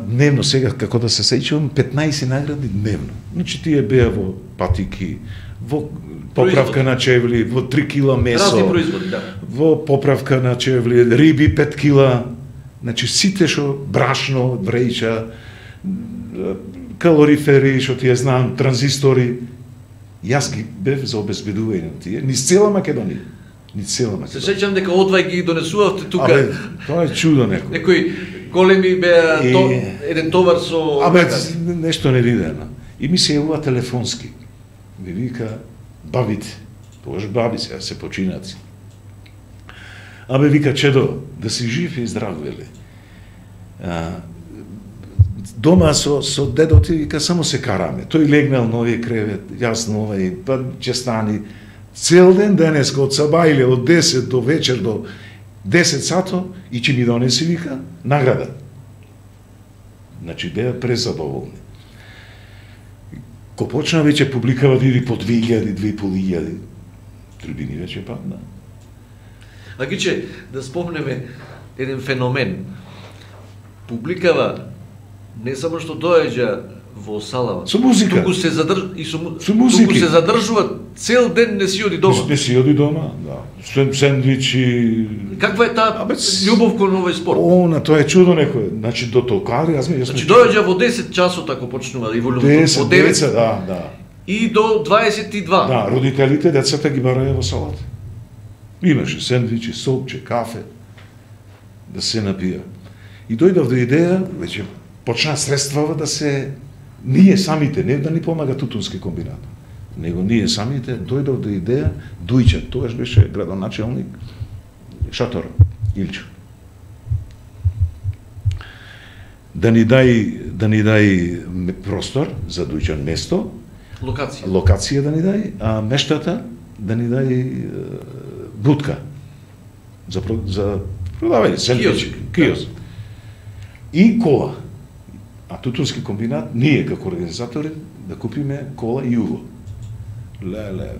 дневно, сега како да се сеќавам, 15 награди дневно. Значи тие беа во патики, во поправка на чевли, во 3 кила месо. Разни производи, да. Во поправка на чевли, риби 5 кила. Значи сите што брашно, вреќа, калорифери, што тие знам, транзистори. Јас ги бев за обезбедување на тие, низ цела Македонија. Се сеќам дека одвај ги донесувавте тука. Абе, тоа е чудо некој. Некои големи беа еден товар со... Абе, нешто невидено. И ми се јавува телефонски. Ми вика, бабите, тогаш баби се починаци. Абе, вика, чедо, да си жив и здрав, вели. Дома со дедоти, вика, само се караме. Тој легнал на овие кревет, јас на овај, па ќе стани. Цел ден денеска, од сабајле, од 10 до вечер, до 10 сато и ќе ми донеси, вика, награда. Значи, беа презадоволни. Ко почна веќе публикава биди по 2000, 2500, трибини веќе падна. А гиче, да спомнеме еден феномен. Публикава не само што доаѓа во салава, Со музика. туку се Со музики. туку се задржува цел ден, не си оди дома. Не си оди дома, да. Сендвичи. Каква е таа љубов кон овој спорт? Тоа е чудо некој. Значи до толкари, Значи доаѓа во 10 часот ако почнува и во 10, 9 да. и до 22. Да, родителите децата ги бараја во салата. Имаше сендвичи, сопче, кафе, да се напија. И дојдов до идеја, веќе почна средствава да се ние самите, не да ни помага Тутунски комбинат, него ние самите дојдов до идеја, Дујче, тогаш беше градоначелник Шатор, Илчо. Да ни дај простор за Дујчан место, локација да ни дај, а мештата да ни дај будка за продавање, сендвичи, киоск. И кола. А Тутунски комбинат, ние како организатори, да купиме кола и уво. Леле.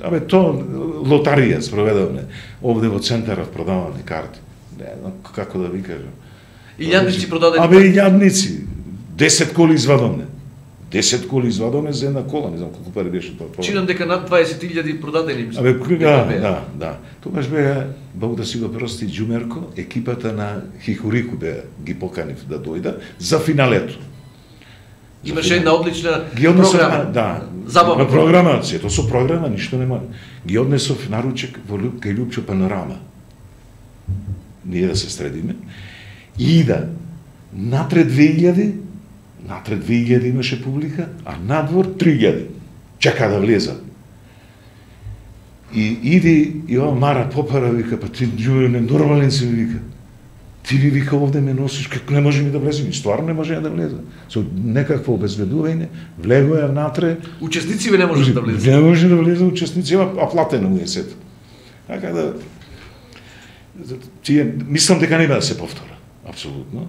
Абе, лотарија спроведавме. Овде во центарот продаваме карти. Не знам како да ви кажам. И јадници продадени. Абе, јадници. 10 коли извадовме. 10 коли извадовме за една кола, не знам колку пари беше тоа. Чинам дека над 20.000 продадени. Абе, да. Тогаш беа, Бог да си го прости, Џумерко, екипата на Хихурику беа, ги поканив да дојда за финалето. Имаше една одлична програма. Да, забавна програма, сето со програма, ништо нема. Ги однесов наручек во кај Љупчо Панорама. Ние да се средиме. И да, натре 2000 имаше публика, а надвор 3000. Чека да влеза. И иди, и ова Мара попара, вика, па ти Џуме, нормален си, вика. Ти ви, вика, овде ме носиш, како не може ми да влезем. И стварно не може да влеза. Со некакво обезбедување, влегоја внатре. Учесници не може да влезе. Не може да влезе учесници, а платено му е сето. Така да, мислам дека нема да се повтора. Апсолутно.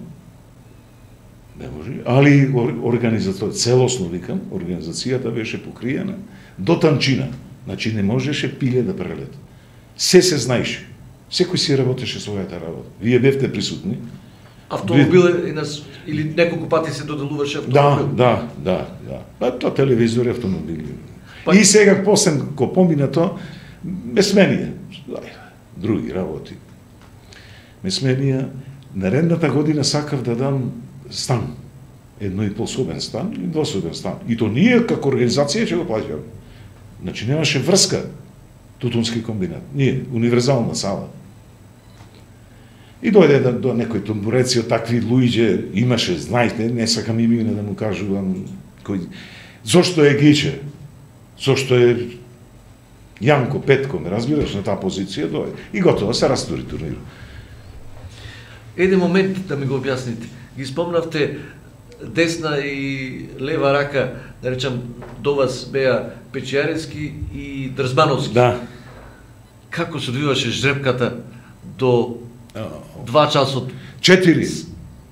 Не може. Али организација, целосно викам, организацијата беше покриена до танчина. Значи не можеше пиле да прелета. Се знаеше. Секој си работеше својата работа. Вие бевте присутни. Автомобил или неколку пати се доделуваше автомобил? Да. Па тоа телевизор и автомобили. И сега после ко помина тоа, ме сменија. Други работи. Ме сменија. Наредната година сакав да дам стан. 1,5-собен стан и 2-собен стан. И то ние како организација ќе го плаќаме. Значи немаше врска Тутунски комбинат. Ние, универзална сала. И дојде до некој тамбуреци од такви луѓе, имаше, знаете, не сакам имена да му кажувам кој. Зошто е Гиче? Зошто е Јанко Петко, ме разбираш, на таа позиција дојде. И готово, се растури турнирот. Еден момент да ми го објасните. Ги спомнавте десна и лева рака, да речам, до вас беа Печијаревски и Дрзбановски. Да. Како се одвиваше жребката до 2 часот? 4.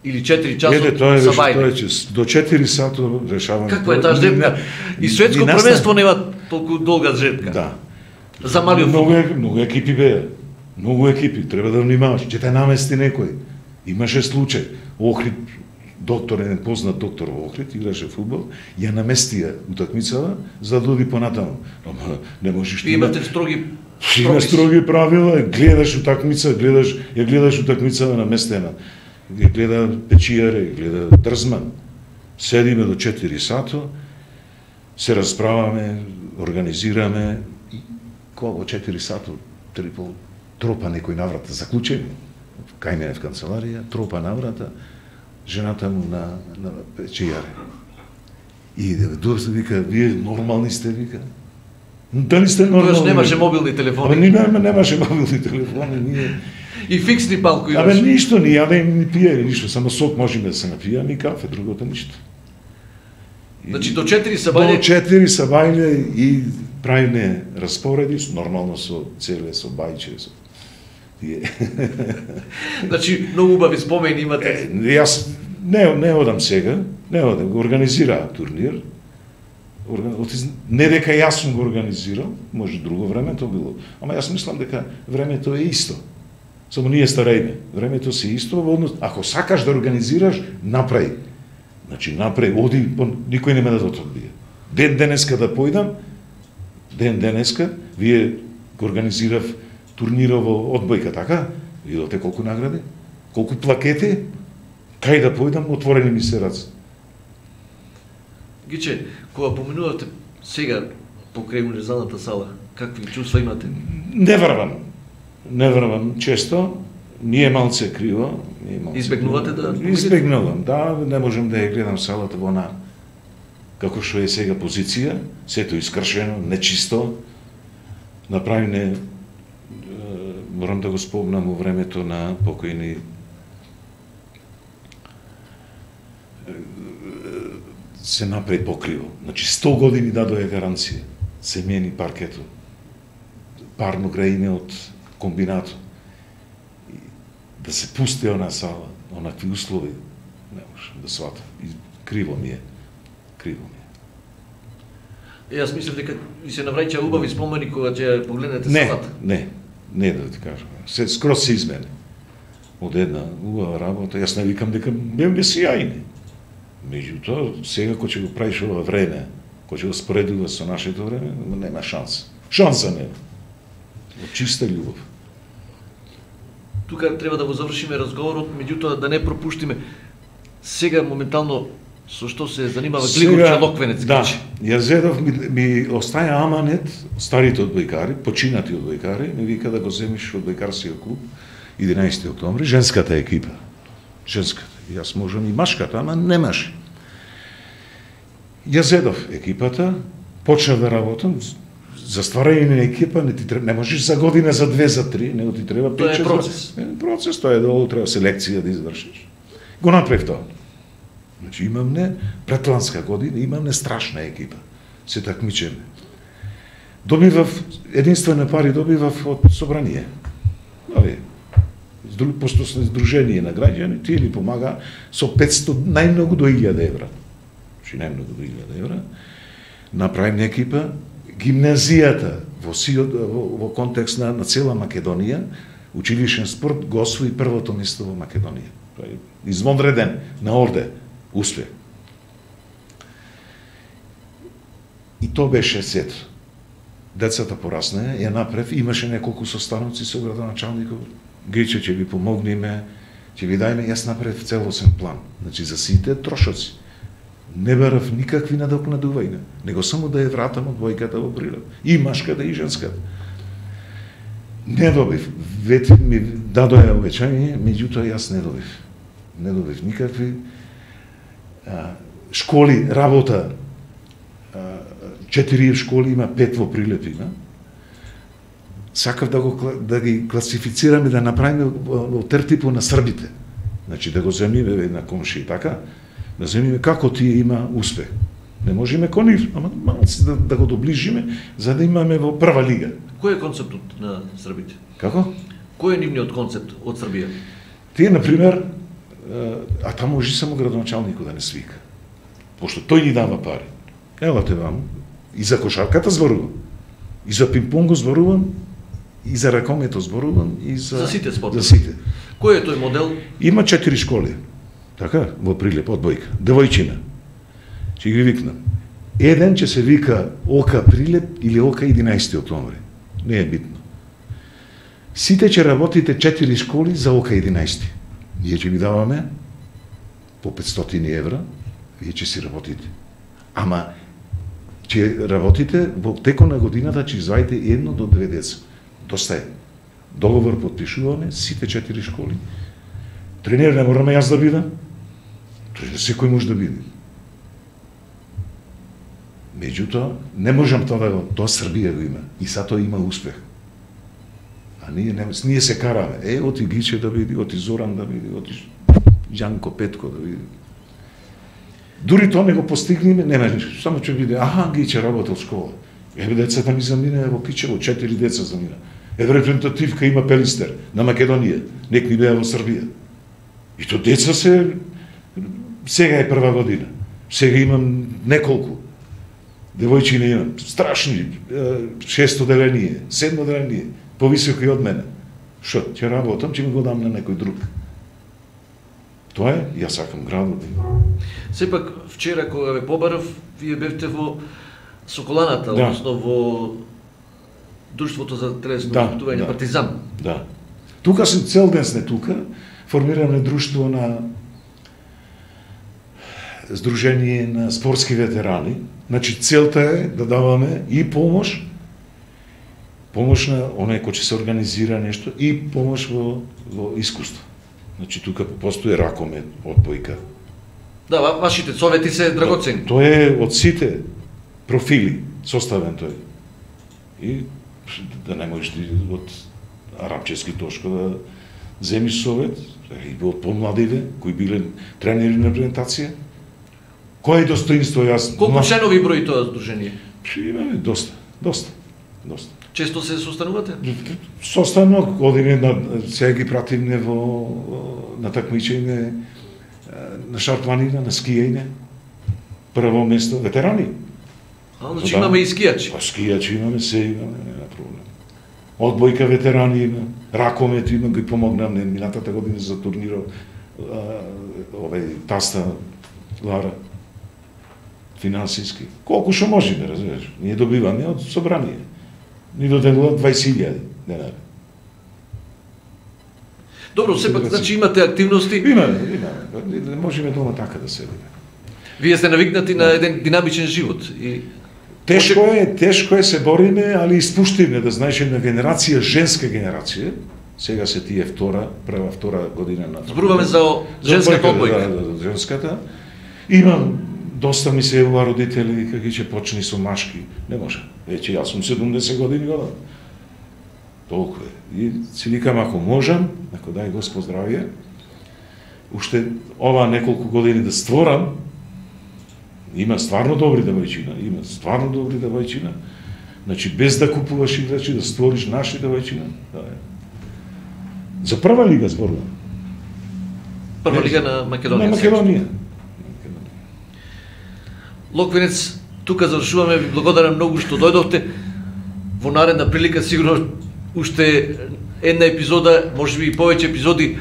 Или 4 часот са бајне? До 4 сата решаваме. Каква е таа жребка? И светско првенство нема толку долга жребка. Да. За малиот футбол. Многу екипи беа. Многу екипи, треба да внимаваш, ќе те намести некој. Имаше случај. Охрид, доктор, еден познат доктор во Охрид, играше фудбал, ја наместија утакмицава за да оди понатаму. Ама не можеш ти. Имате строги Има строги правила, гледаш утакмица, гледаш утакмицава наместена. Гледа Печијаре, гледа Дрзман. Седиме до 4 сато, се расправаме, организираме и кога 4 сато, тропа некој на врата, заклучени. Кај мене в канцеларија, тропа на врата, жената му на Печијаре. И дојде вика, вие нормални сте, вика. Дали сте нормални? Тоаш немаше мобилни телефони. Немаше мобилни телефони, ние. И фиксни палко имаше. Абе ништо, ни јаде ни пије, ништо, само сок можеме да се напијаме и кафе, другото ништо. Значи до 4 са бајле? До 4 са бајле и правиме распореди, нормално со целе, со бајче, Значи, многу убави спомени имате. Јас не одам сега, не одам, го организираа турнир. Не дека јас сум го организирал, може друго време тоа било. Ама јас мислам дека времето е исто. Само ние старејме. Времето се исто, ако сакаш да организираш, направи. Значи, направи, оди, никој нема да те одбие. Ден денеска да појдам, вие го организирав турнирово одбојка, така? Видите колку награди, колку плакети, кај да појдам, отворени ми се раце. Гиче, кога поминувате сега покрај универзалната сала, какви чувства имате? Не врвам често, ние малце криво. Избегнувате да... Избегнувам, да, не можам да ја гледам салата во она како што е сега позиција, сето искршено, нечисто, направене, морам да го спомнам во времето на покојни се направи покриво. Значи 100 години дадоја гаранција. Се мени паркето. Парно граиме од комбинато. Да се пусти она сала, онакви услови, не можам да сватам. Криво ми е. Јас мислев дека ви се навраќа убави спомени кога ќе погледнете салата. Не да ти кажам. Скроз се измени. Од една убава работа, јас не викам дека бевме сјајни. Меѓутоа, сега кој ќе го правиш ова време, кој ќе го споредува со нашето време, нема шанса. Шанса нема. Од чиста љубов. Тука треба да го завршиме разговорот, меѓутоа да не пропуштиме сега моментално со што се занимава Глигор Локвенец. Да, јас зедов ми остаја аманет, старите одбојкари, починати одбојкари, ми вика да го земиш одбојкарскиот клуб 11 октомври, женската екипа. Женската. Јас можам и машката, ама немаш. Јас зедов екипата, почнав да работам, за стварање на екипа не можеш за година, за 2, за 3, него ти треба 5-6. Тоа е процес. Процес, тоа е долу, треба селекција да извршиш. Го направив тоа. Значи имамне, претланска година, имамне страшна екипа. Се такмичеме. Добивав, единствено пари добивав од собрание. Постојано здружение на граѓани, тие ни помага со 500, најмногу до 1000 евра. Значи најмногу до 1000 евра. Направим екипа, гимназијата во контекст на цела Македонија, училишен спорт го освои првото место во Македонија. Тоа е извонреден на орде успех. И тоа беше сето. Децата пораснаа, ја направив, имаше неколку состаноци со градоначалникот. Гриче, ќе ви помогнеме, ќе ви дајме, јас направив целосен план. Значи, за сите трошоци. Не барав никакви надокнадувања, него само да ја вратам од двојката во Прилеп. И машката, и женската. Не добив. Вете ми дадоја обеќање, меѓутоа јас не добив. Не добив никакви. Школи, работа, 4 школи има, 5 во Прилеп има. Сакав да ги класифицираме, да направиме во тертипо на србите. Значи да го земиме на комши и така, да земиме како тие има успех. Не можеме кон нив, ама малци да го доближиме, за да имаме во прва лига. Кој е концептот на србите? Како? Кој е нивниот концепт од Србија? Тие, например, а таму може само градоначалникот да не свика. Пошто тој ни дава пари. Елате ваму, и за кошарката зборувам, и за пинг-понго зборувам, и за ракомето зборувам, и за сите спортови. За сите. Кој е тој модел? Има 4 школи. Така, во Прилеп, одбојка. Девојчина. Ќе ги викнам. Еден ќе се вика ОК Прилеп или ОК 11 октомври. Не е битно. Сите ќе работите 4 школи за ОК 11. Ние ќе ви даваме по 500 евра, вие ќе си работите. Ама ќе работите во текот на годината, ќе извадите 1 до 2 деца. Доста е. Договор подпишуваме сите 4 школи. Тренер не мораме јас да бидам. Секој може да биде. Меѓутоа, не можам тоа да го, тоа Србија го има. И са тоа има успех. А ние се караме. Оти Гиче да биде, оти Зоран да биде, оти Ѓанко Петко да биде. Дури тоа не го постигнеме, нема ништо. Само ќе биде, Гиче работел школа. Децата ми замина во Кичево, 4 деца замина. репрезентативка има Пелистер на Македонија, нек ни беа во Србија. И то деца сега е прва година. Сега имам неколку. Девојчини имам, страшни, 6 оделение, 7 оделение, повисоки од мене. Шо, ќе работам, ќе ми го дам на некој друг. Тоа е, јас сакам градот. Сепак, вчера кога ве побарав, вие бевте во Соколаната, Да. односно во Друштвото за телесно Да, воспитување да. Партизан. Да. Тука сум цел ден сме тука, формираме друштво на Сдружение на спортски ветерани. Значи целта е да даваме и помош на оној кој ќе се организира нешто и помош во искуство. Значи тука постои ракомет, одбојка. Да, вашите совети се драгоцени. Тоа е од сите профили составен тој. И да не можеш од арапчески тошко да земиш совет, и од помладиве, кои биле тренери на репрезентација. Кој е достоинство јас? Колку членови брои тоа здружение? Имаме доста. Често се состанувате? Состанок, одиме сега ги пратиме на такмичење на шарпланина, на скијање. Прво место, ветерани. Значи имаме и скијачи. Скијачи имаме, се имаме, нема проблем. Одбојка ветерани има, ракомет има, ги помогнам минатата година за турнирот, таста Лара, финансиски. Колку што можеме, разбираш. Ние добиваме од собрание. Ни доделуват 20.000 денари. Добро, сепак, значи имате активности. Имаме. Можеме дома така да седиме. Вие сте навикнати на еден динамичен живот. И Тешко е се бориме, али испуштиме, да знаеш една генерација, женска генерација, сега се тие втора година на... Зборуваме за женската одбојка. Да, женската. Имам, доста ми се јавува родители, како ќе почни со машки. Не може. Веќе јас сум 70 години годам. Толку е. И си викам, ако можам, ако дај Господ здравје, уште ова неколку години да створам, има стварно добри девојчина, значи без да купуваш играчи, да створиш наши девојчина. Да, е. За прва лига зборувам. Прва лига на Македонија. На Македонија. Локвенец, тука завршуваме, ви благодарам многу што дојдовте. Во наредна прилика сигурно уште една епизода, можеби и повеќе епизоди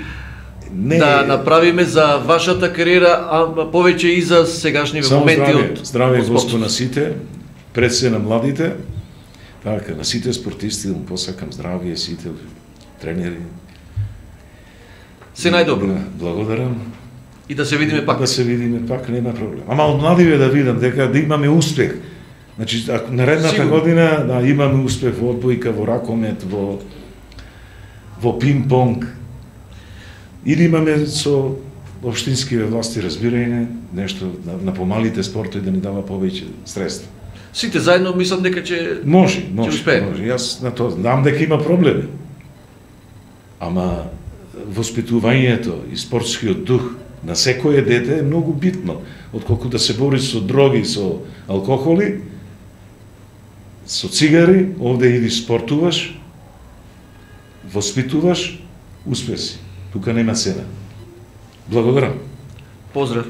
да направиме за вашата кариера, а повеќе и за сегашниве моменти од здраве Господ на сите, пред се на младите, така, на сите спортисти, да му посакам здравие, сите тренери. Се најдобро. Благодарам. И да се видиме пак. Да се видиме пак, нема проблем. Ама од младиве да видам дека да имаме успех. Значи, наредната година да имаме успех во одбојка, во ракомет, во пинг-понг. Или имаме со општинските власти разбирање нешто на помалите спортови да ни дава повеќе средства. Сите заедно мислам дека ќе може. успееме. Јас на тоа знам дека има проблеми. Ама воспитувањето и спортскиот дух на секое дете е многу битно, отколку да се бори со дроги, со алкохоли, со цигари, овде иди спортуваш, воспитуваш, успеси. Тука нема цена. Благодарам. Поздрав.